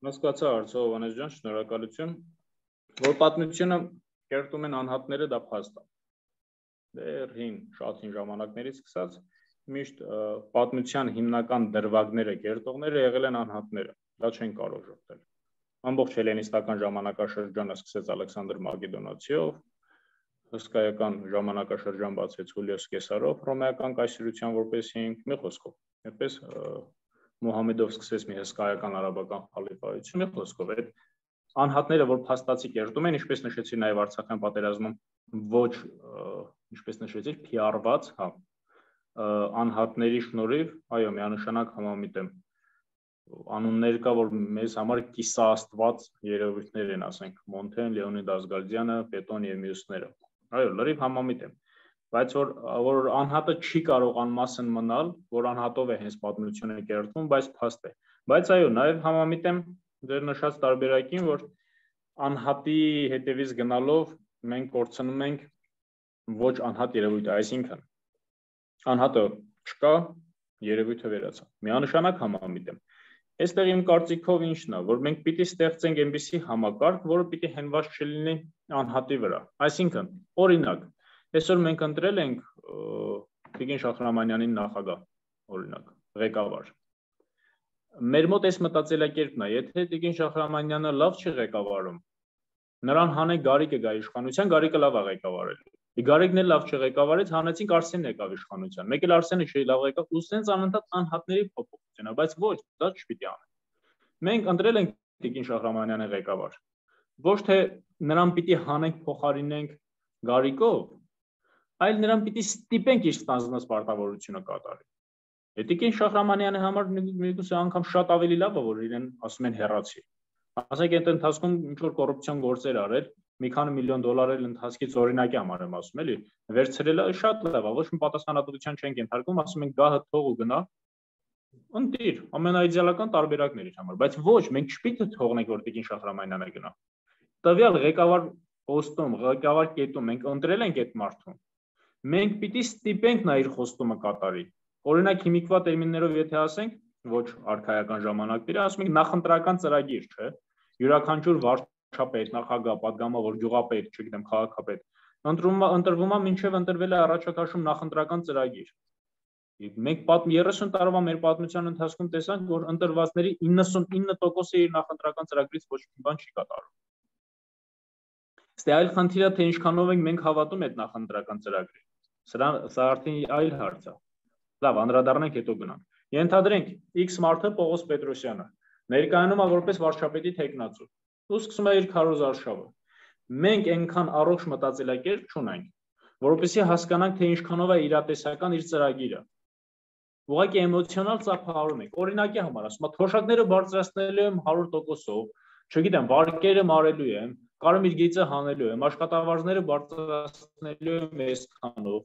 Speaker 1: Հասկացա հարցը, Հովհաննես ջան, շնորհակալություն, որ պատմությունը կերտում են անհատները, դա փաստ է։ Դեռ շատ հին ժամանակներից սկսած միշտ պատմության հիմնական դրվագները, կերտողները եղել են անհատները, դա չեն կարող ժողտել։ Ամբողջ հելենիստական ժամանակաշրջանը սկսեց Ալեքսանդր Մակեդոնացիով, հսկայական ժամանակաշրջան բացեց Հուլիոս Կեսարով, հռոմեական կայսրության որպես հիմք, մի խոսքով, այդպես Մուհամեդով սկսեց մի հսկայական արաբական խալիֆայություն, մի խոսքով այդ անհատները, որ փաստացի կերտում են, ինչպես նշեցի նաև Արցախյան պատերազմում, ոչ, ինչպես նշեցի, PR-ված, հա, անհատների շնորհիվ, այո, միանշանակ համամիտ եմ, անուններ կա, որ մեզ համար կիսաաստված երևույթներ են, ասենք, Մոնթեն, Լեոնիդ Ազգալդյանը, Պետոն եւ մյուսները, այո, լրիվ համամիտ եմ, բայց որ անհատը չի կարող անմասն մնալ, որ անհատով է հենց պատմությունը կերտվում, բայց փաստ է, բայց այո, նաև համամիտ եմ ձեր նշած տարբերակին, որ անհատի հետևից գնալով մենք կորցնում ենք ոչ անհատ երևույթը, այսինքն անհատը չկա, երևույթը վերացավ։ Միանշանակ համամիտ եմ։ Այստեղ իմ կարծիքով ինչն է, որ մենք պիտի ստեղծենք այնպիսի համակարգ, որը պիտի հենված չլինի անհատի վրա։ Այսինքն, օրինակ, այսօր մենք ընտրել ենք Տիկին Շահրամանյանին նախագահ, օրինակ, ղեկավար։ Մեր մոտ այս մտածելակերպն է, եթե Տիկին Շահրամանյանը լավ չի ղեկավարում, նրան հանենք Գարիկը գա իշխանության, Գարիկը լավ է ղեկավարել։ Գարիկն էլ լավ չղեկավարեց, հանեցինք Արսենն եկավ իշխանության։ Մեկ էլ Արսենը չի լավ ղեկավ, ու սենց անընդհատ անհատների փոփոխություն է, բայց ոչ, դա չպիտի անենք։ Մենք ընտրել ենք Տիկին Շահրամանյանը ղեկավար։ Ոչ թե նրան պիտի հանենք փոխարինենք Գարիկով, այլ նրան պիտի ստիպենք իր ստանձնած պարտավորությունը կատարի։ Տիկին Շահրամանյանի համար միգուցե անգամ շատ ավելի լավ է, որ իրեն ասում են հեռացի։ Ասենք այդ ընթացքում ինչ որ կոռուպցիոն գործեր արել, մի քանի միլիոն դոլար էլ ընթացքից օրինակի համար եմ ասում, էլի, վերցրելը շատ լավ է, ոչ մի պատասխանատվության չենք ենթարկում, ասում ենք գահը թող ու գնա, ընտիր, ամենաիդեալական տարբերակն էր իր համար, բայց ոչ, մենք չպիտի թողնենք, որ Տիկին Շահրամանյանը գնա։ Տվյալ ղեկավար պոստում, ղեկավար կետում մենք ընտրել ենք այդ մարդուն, մենք պիտի ստիպենք նա իր խոստումը կատարի։ Օրինակ հիմիկվա տերմիններով եթե ասենք, ոչ արքայական ժամանակների, ասում ենք նախընտրական ծրագիր, չէ՞։ Յուրաքանչյուր վարչապետ, նախագահ, падգամավոր, գյուղապետ, չգիտեմ, քաղաքապետ, ընտրվում է մինչև ընտրվել է առաջակարգում նախընտրական ծրագիր։ Մենք 30 տարվա մեր պատմության ընթացքում տեսանք, որ ընտրվածների 99%-ը իր նախընտրական ծրագրից ոչ մի բան չի կատարում։ Ստե այլ խնդիրը թե ինչքանով ենք մենք հավատում այդ նախընտրական ծրագրին։ Սա արդեն այլ հարց է։ Լավ, անդրադառնանք հետո գնանք։ Ենթադրենք X մարդը Պողոս Պետրոսյանը ներկայանում է որպես վարչապետի թեկնածու։ Ու սկսում է իր քարոզարշավը։ Մենք այնքան առողջ մտածելակերպ չունենք, որովհետեւ հասկանանք թե ինչքանով է իրատեսական իր ծրագիրը։ Ուղղակի էմոցիոնալ ծափահարում ենք։ Օրինակի համար ասում եմ, թոշակները բարձրացնելու եմ 100%-ով, չգիտեմ, վարկերը մարելու եմ, կարմիր գիծը հանելու եմ, աշխատավարձները բարձրացնելու եմ այսքանով։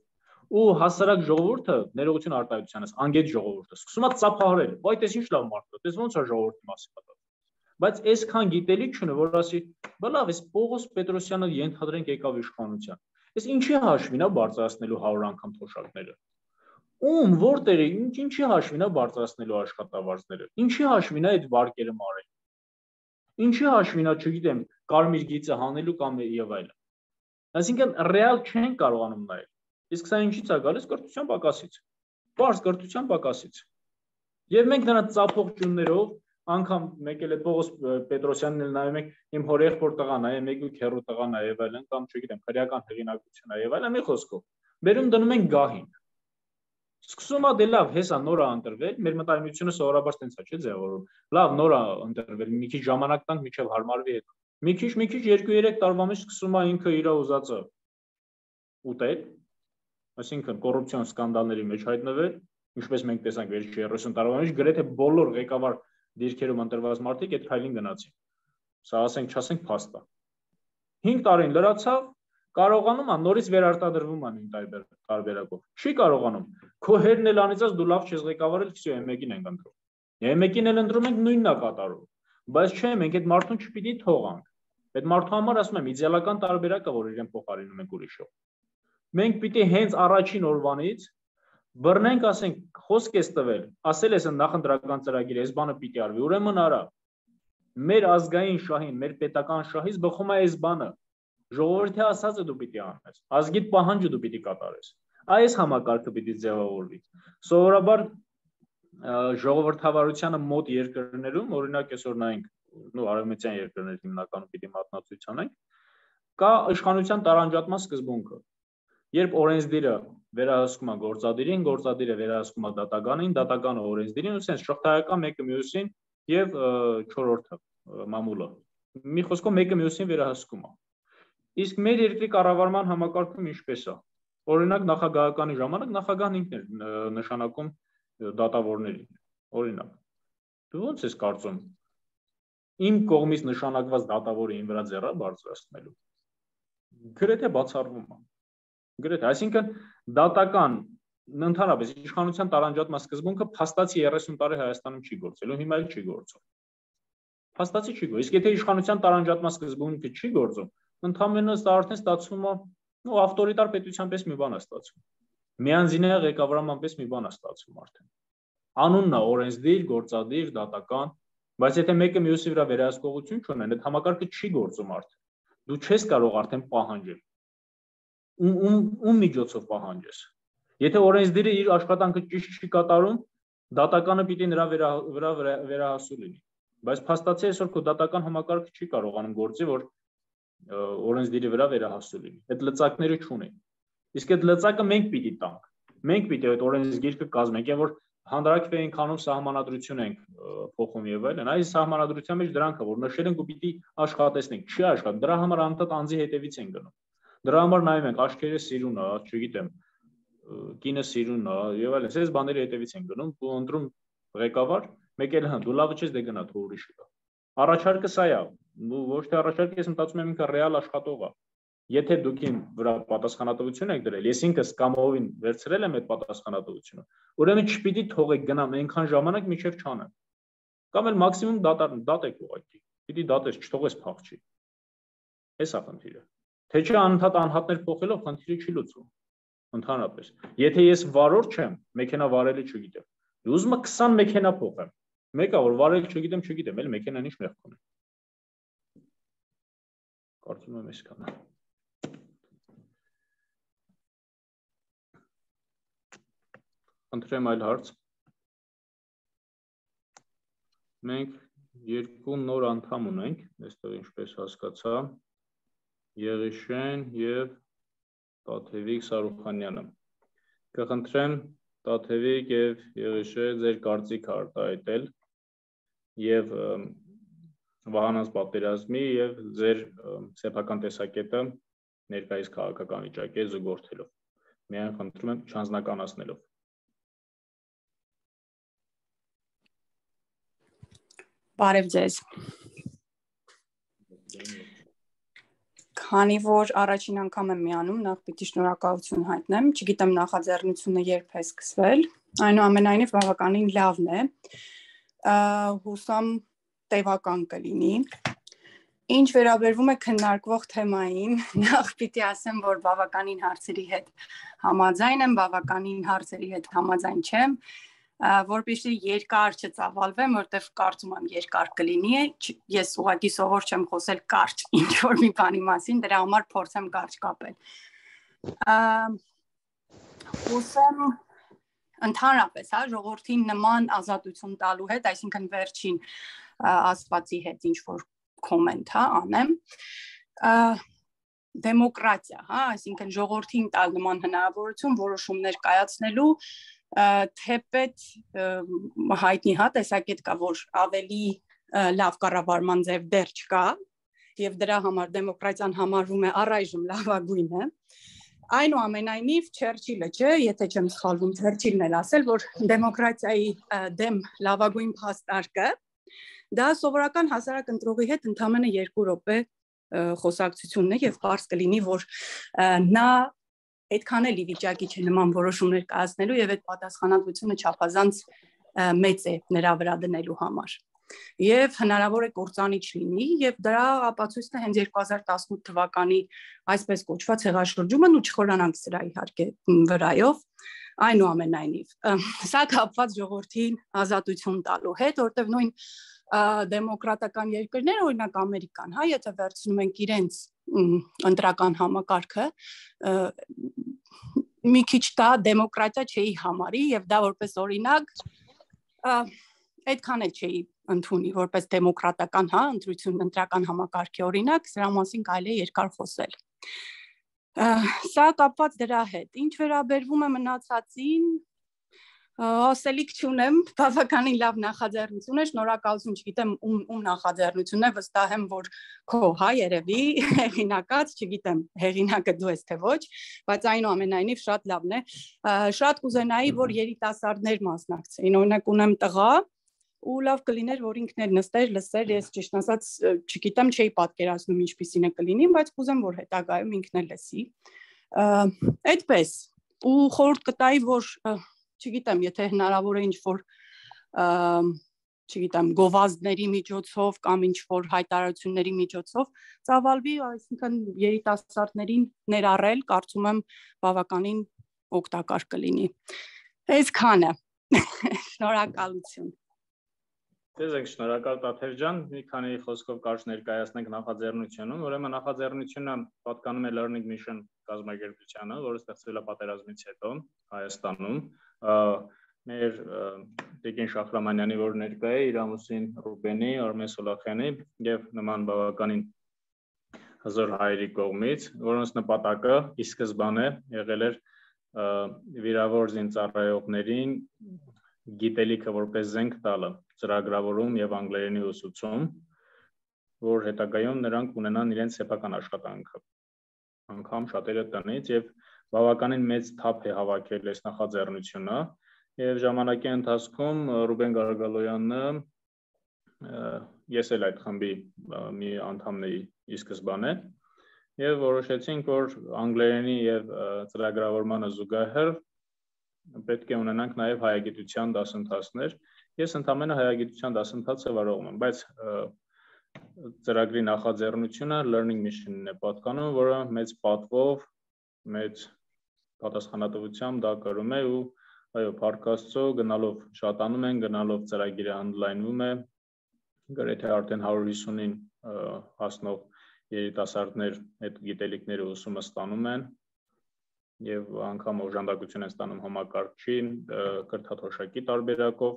Speaker 1: Ու հասարակ ժողովուրդը ներողություն արտահայտությանս, անգետ ժողովուրդը սկսում է ծափահարել։ Բայց այս ինչ լավ մարդ է, դες ոնց է ժողովրդի մասին մտածում։ Բայց այսքան գիտելիք չունի, որ ասի, բա լավ, այս Պողոս Պետրոսյանը ենթադրենք եկավ իշխանության։ Այս ինչի հաշվին է բարձրացնելու 100 անգամ թոշակները։ Ում որտեղ է, ինչի հաշվին է բարձրացնելու աշխատավարձները։ Ինչի հաշվին է այդ վարկերը մարել։ Ինչի հաշվին է, չգիտեմ, կարմիր գիծը հանելու կամ եւ այլն։ Այսինքն ռեալ չեն կարողանում նայել։ Իսկ սա ինչից է գալիս կրթության պակասից։ Բարձ կրթության պակասից։ Եվ մենք նրանց ծափողջուններով անգամ մեկ էլ է Պողոս Պետրոսյանն էլ նայում եք իմ հորեղբոր տղան է, մեկ ու քեռու տղան է եւ այլն կամ չգիտեմ, քրեական հեղինակություն է եւ այլն, մի խոսքով։ Բերում դնում են գահին։ Սկսում է դե լավ, հեսա նոր է ընտրվել, մեր մտայնությունը սովորաբար տենց է, չէ՞ ձևավորում։ Լավ, նոր է ընտրվել, մի քիչ ժամանակ տանք միջև հարմարվի հետ։ Մի քիչ 2-3 տարվա մեջ սկսում է ինքը իր ուզածը ուտել, այսինքն կոռուպցիոն սկանդալների մեջ հայտնվել, ինչպես մենք տեսանք վերջի 30 տարվա մեջ, գրեթե բոլոր ղեկավար դիրքերում ընտրված մարդիկ այդ քայլին գնացին։ Սա ասենք, չասենք փաստ է։ 5 տարին լրացավ, կարողանում է նորից վերարտադրվում է նույն տարբերակով։ Չի կարողանում։ Քո հերն էլ անիծած դու լավ չես ղեկավարել, քսյո M1-ին ենք ընտրում։ M1-ին էլ ընտրում ենք նույնն է կատարում։ Բայց չէ, մենք այդ մարդուն չպիտի թողանք։ Այդ մարդու համար ասում եմ, իդեալական տարբերակը, որ իրեն փոխարինում ենք ուրիշով։ Մենք պիտի հենց առաջին օրվանից բռնենք, ասենք, խոսք ես տվել, ասել ես նախընտրական ծրագիր, այս բանը պիտի արվի, ուրեմն արա։ Մեր ազգային շահին, մեր պետական շահից բխում է այս բանը։ Ժողովրդի ասածը դու պիտի անես, ազգիդ պահանջը դու պիտի կատարես։ Այս համակարգը պիտի ձևավորվի։ Սովորաբար ժողովրդավարությանը մոտ երկրներում, օրինակ այսօր նայենք, արևմտյան երկրներ հիմնականում պիտի մատնացույց անենք, կա իշխանության տարանջատման սկզբունքը։ Երբ օրենսդիրը վերահսկում է գործադիրին, գործադիրը վերահսկում է դատականին, դատականը օրենսդիրին, ու sense շղթայական մեկը մյուսին եւ չորրորդը մամուլը։ Մի խոսքով մեկը մյուսին վերահսկում է։ Իսկ մեր երկրի կառավարման համակարգում ինչպես է։ Օրինակ նախագահականի ժամանակ նախագահն ինքն էր նշանակում դատավորներին։ Օրինակ։ Դու ո՞նց ես կարծում։ Իմ կողմից նշանակված դատավորը ին վրա ձեռա բարձրացնելու։ Գրեթե բացառվում է։ Գրեթե, այսինքն դատական ընդհանրապես իշխանության տարանջատման սկզբունքը փաստացի 30 տարի Հայաստանում չի գործել ու հիմա էլ չի գործում։ Փաստացի չի գործում։ Իսկ եթե իշխանության տարանջատման սկզբունքը չի գործում, ընդհանրապես դա արդեն ստացվում է, ավտորիտար պետության պես մի բան է ստացվում։ Միանձնյա ղեկավարման պես մի բան է ստացվում արդեն։ Անունն է օրենսդիր, գործադիր, դատական, բայց եթե մեկը մյուսի վրա վերահսկողություն չունեն, այդ համակարգը չի գործում արդեն։ Դու չես կարող արդեն պահանջել։ Ում միջոցով պահանջես։ Եթե օրենսդիրը իր աշխատանքը ճիշտ չի կատարում, դատականը պիտի նրա վրա վերահասու լինի։ Բայց փաստացի այսօր քո դատական համակարգը չի կարողանում գործի, որ օրենսդիրի վրա վերահասու լինի։ Այդ լծակները չունեն։ Իսկ այդ լծակը մենք պիտի տանք։ Մենք պիտի այդ օրենսգիրքը կազմենք, որ հանրակրվեին քանում սահմանադրություն ենք փոխում եւ այլն։ Այս սահմանադրության մեջ դրանք է, որ նշել ենք ու պիտի աշխատեցնենք։ Չի աշխատում։ Դրա համար անդադ անձի հետևից են գնում։ Դրա համար նայում ենք աշխերհը սիրուն է, չգիտեմ, կինը սիրուն է եւ այլն։ Այս բաների հետևից են գնում, ու ընտրում ղեկավար, մեկ էլ դու լավը չես դե գնա թող ուրիշը գա։ Առաջարկը սա է, ոչ թե առաջարկը ես մտածում եմ ինքը ռեալ աշխատող է։ Եթե դուք իմ վրա պատասխանատվություն եք դրել, ես ինքս կամովին վերցրել եմ այդ պատասխանատվությունը, ուրեմն չպիտի թողեք գնամ այնքան ժամանակ մինչև չանեմ։ Կամ էլ մաքսիմում դատեք ուղղակի։ Պիտի դատես, չթողես փախչի։ Էս է խնդիրը։ Թե չէ անընդհատ անհատներ փոխելով խնդիրը չի լուծվում։ Ընդհանրապես։ Եթե ես վարորդ չեմ, մեքենա վարելը չգիտեմ։ Ուզում եմ 20 մեքենա փոխեմ։ Մեկը որ վարել չգիտեմ, էլ մեքենան ինչ մեղք ունի։ Կարծում եմ այսքանը։ Խնդրեմ այլ հարց։ Մենք երկու նոր անդամ ունենք, այստեղ ինչպես հասկացա, Եղիշեն եւ Տաթևիկ Սարուխանյանը։ Կխնդրեմ Տաթևիկ եւ Եղիշե ձեր կարծիքը արտահայտել եւ Վահանաս պատերազմի եւ ձեր սեփական տեսակետը ներկայիս քաղաքական վիճակի զուգորդելով։ Միայն խնդրում եմ չանձնականացնելով։
Speaker 4: Բարև ձեզ։ Քանի որ առաջին անգամ եմ միանում, նախ պիտի շնորհակալություն հայտնեմ, չգիտեմ նախաձեռնությունը երբ է սկսվել, այնուամենայնիվ բավականին լավն է, հուսամ տևական կլինի։ Ինչ վերաբերվում է քննարկվող թեմային, նախ պիտի ասեմ, որ բավականին հարցերի հետ համաձայն եմ, բավականին հարցերի հետ համաձայն չեմ, որպեսզի երկար չծավալվեմ, որտեղ կարծում եմ երկար կլինի, ես ուղղակի սովոր չեմ խոսել կարճ ինչ-որ մի բանի մասին, դրա համար փորձեմ կարճ կապել։ Ուսեմ ընդհանրապես, ժողովրդին նման ազատություն տալու հետ, այսինքն վերջին ասվածի հետ ինչ-որ կոմենտ անեմ, դեմոկրատիա, այսինքն ժողովրդին տալ նման հնարավորություն որոշումներ կայացնելու, թեպետ հայտնի տեսակետ կա, որ ավելի լավ կառավարման ձև դեռ չկա, եւ դրա համար դեմոկրատիան համարվում է առայժմ լավագույնը, այնուամենայնիվ Չերչիլը չէ, եթե չեմ սխալվում, Չերչիլն էլ ասել, որ դեմոկրատիայի դեմ լավագույն փաստարկը դա սովորական հասարակ ընտրողի հետ ընդամենը 2 րոպե խոսակցությունն է եւ պարզ կլինի, որ նա այդքան էլ ի վիճակի չէ նման որոշումներ կայացնելու եւ այդ պատասխանատվությունը չափազանց մեծ է նրա վրա դնելու համար։ Եվ հնարավոր է կործանիչ լինի եւ դրա ապացույցն է հենց 2018 թվականի այսպես կոչված հեղաշրջումն ու չխորանանք սրա իհարկե վրայով, այնուամենայնիվ սա կապված ժողովրդին ազատություն տալու հետ, որտեղ նույն դեմոկրատական երկրները, օրինակ Ամերիկան, եթե վերցնում ենք իրենց ընտրական համակարգը, մի քիչ դա դեմոկրատիա չէի համարի եւ դա որպես օրինակ այդքան էլ չէի ընդունի որպես դեմոկրատական, ընտրություն ընտրական համակարգի օրինակ, սրա մասին կարելի է երկար խոսել։ Սա կապված դրա հետ, ինչ վերաբերվում է մնացածին, ասելիք չունեմ, բավականին լավ նախաձեռնություն է, շնորհակալություն, չգիտեմ ում նախաձեռնությունն է, վստահ եմ, որ քո երևի հեղինակած, չգիտեմ, հեղինակը դու ես թե ոչ, բայց այնուամենայնիվ շատ լավն է, շատ կուզենայի, որ երիտասարդներ մասնակցեին, օրինակ ունեմ տղա, ու լավ կլիներ, որ ինքն էլ նստեր, լսեր, ես ճիշտ ասած, չգիտեմ, չէի պատկերացնում ինչպիսին է կլինի, բայց կուզեմ, որ հետագայում ինքն էլ լսի։ Այդպես, ու խորհուրդ կտայի, որ չգիտեմ, եթե հնարավոր է ինչ-որ չգիտեմ, գովազդների միջոցով կամ ինչ-որ հայտարարությունների միջոցով ծավալվի, այսինքն երիտասարդներին ներառել, կարծում եմ բավականին օգտակար կլինի։ Այսքանը։ Շնորհակալություն։
Speaker 1: Ձեզ շնորհակալ Տաթև ջան, մի քանի խոսքով կարճ ներկայացնենք նախաձեռնությունում, ուրեմն նախաձեռնությունը պատկանում է Learning Mission կազմակերպությանը, որը ստեղծվել է պատերազմից հետո Հայաստանում։ Մեր Տիկին Շախրամանյանի, որ ներկա է, իր ամուսին Ռուբենի, Արմեն Սոլախյանի եւ նման բավականին հզոր հայերի կողմից, որոնց նպատակը ի սկզբանե եղել էր վիրավոր զինծառայողներին գիտելիքը որպես զենք տալը, ծրագրավորում եւ անգլերենի ուսուցում, որ հետագայում նրանք ունենան իրենց սեփական աշխատանքը, անգամ շատերը տնից եւ բավականին մեծ թափ է հավաքել այս նախաձեռնությունը եւ ժամանակի ընթացքում Ռուբեն Գարգալոյանը ես էլ այդ խմբի մի անդամն էի ի սկզբանե եւ որոշեցինք, որ անգլերենի եւ ծրագրավորմանը զուգահեռ պետք է ունենանք նաև հայագիտության դասընթացներ։ Ես ընդամենը հայագիտության դասընթացը վարողում եմ, բայց ծրագրի նախաձեռնությունը Learning Mission-ն է պատկանում, որը մեծ պատվով, մեծ պատասխանատվությամբ դա կրում է ու այո, փառք Աստծո, գնալով շատանում են, գնալով ծրագիրը ընդլայնվում է, գրեթե արդեն 150-ին հասնող երիտասարդներ այդ գիտելիքները ուսումը ստանում են եւ անգամ օժանդակություն են ստանում համակարգչի, կրթաթոշակի տարբերակով։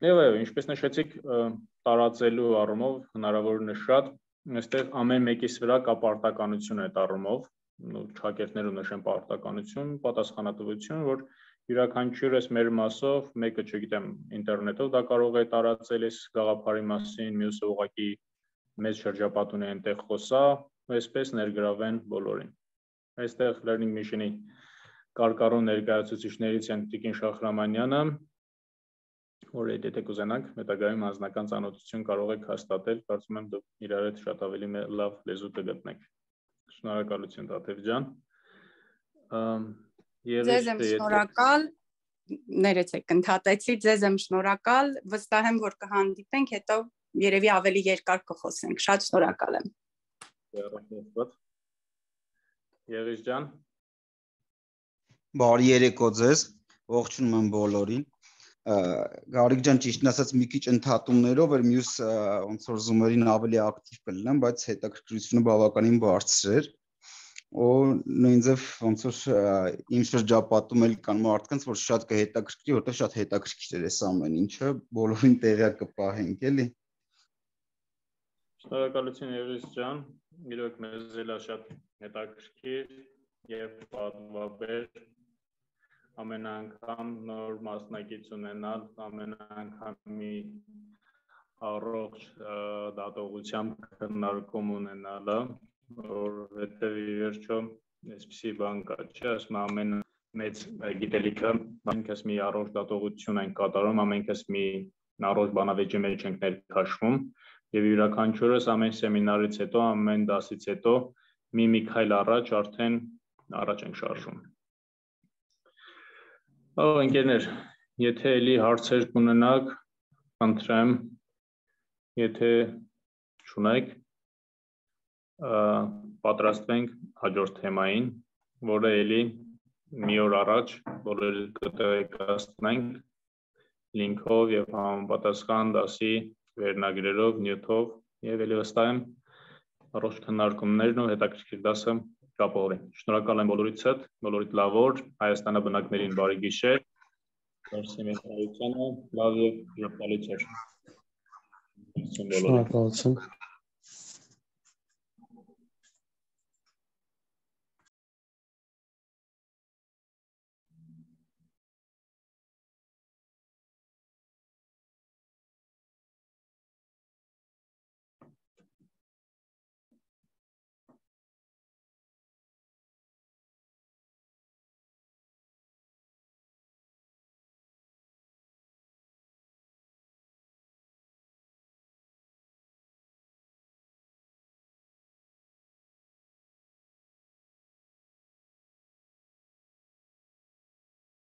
Speaker 1: Եվ այո, ինչպես նշեցիք, տարածելու առումով հնարավորինս շատ, այստեղ ամեն մեկիս վրա կա պարտականություն այդ առումով, շակերտներու նշեն պարտականություն, պատասխանատվություն, որ յուրաքանչյուրս մեր մասով, մեկը չգիտեմ, ինտերնետով դա կարող է տարածել այս գաղափարի մասին, մյուսը ուղղակի մեծ շրջապատ ունի այնտեղ խոսա, այսպես ներգրավեն բոլորին։ Այստեղ Learning Mission-ի կարկառուն ներկայացուցիչներից են Տիկին Շախրամանյանը, որ եթե կուզենաք, հետագայում անձնական ծանոթություն կարող եք հաստատել, կարծում եմ դուք իրար հետ շատ ավելի լավ լեզու կգտնեք։ Շնորհակալություն Տաթև ջան։
Speaker 4: Ձեզ եմ շնորհակալ, ներեցեք, ընդհատեցի, ձեզ եմ շնորհակալ, վստահ եմ, որ կհանդիպենք, հետո երևի ավելի երկար կխոսենք, շատ շնորհակալ եմ։
Speaker 1: Եղիս ջան։
Speaker 5: Բարի երեկո ձեզ, ողջունում եմ բոլորին։ Գարիկ ջան, ճիշտն ասած մի քիչ ընդհատումներով էր, մյուս ոնց որ զումերին ավելի ակտիվ կլինեմ, բայց հետաքրքրությունը բավականին բարձր էր։ Ու նույնձև ոնց որ իմ շրջապատում էլ կան մարդկանց, որ շատ կհետաքրքրի, որտեղ շատ հետաքրքիր էր այս ամեն ինչը, բոլորին տեղյակ կպահենք, էլի։
Speaker 1: Շնորհակալություն Եղիս ջան, իրոք մեզ էլ շատ հետաքրքիր եւ պատվաբեր ամեն անգամ նոր մասնակից ունենալ, ամեն անգամ մի առողջ դատողությամբ քննարկում ունենալը, որովհետեւ ի վերջո այսպիսի բան կա, չէ՞, ասում ամեն մեծ գիտելիքը, ամենքս մի առողջ դատողություն ենք կատարում, ամենքս մի առողջ բանավեճի մեջ ենք ներքաշվում եւ յուրաքանչյուրս ամեն սեմինարից հետո, ամեն դասից հետո մի քայլ առաջ արդեն առաջ ենք շարժում։ Ընկերներ, եթե էլի հարցեր կունենաք, խնդրեմ, եթե չունեք, պատրաստվենք հաջորդ թեմային, որը էլի մի օր առաջ բոլորը կտեղեկացնենք լինքով եւ համապատասխան դասի վերնագրերով, նյութով եւ էլի վստահ եմ առողջ քննարկումներն ու հետաքրքիր դասը կապողրին։ Շնորհակալ եմ բոլորիցդ, բոլորիդ լավ օր, Հայաստանը բնակներին բարի գիշեր, լավ եւ ժպտալի ցեր։
Speaker 2: Շնորհակալություն։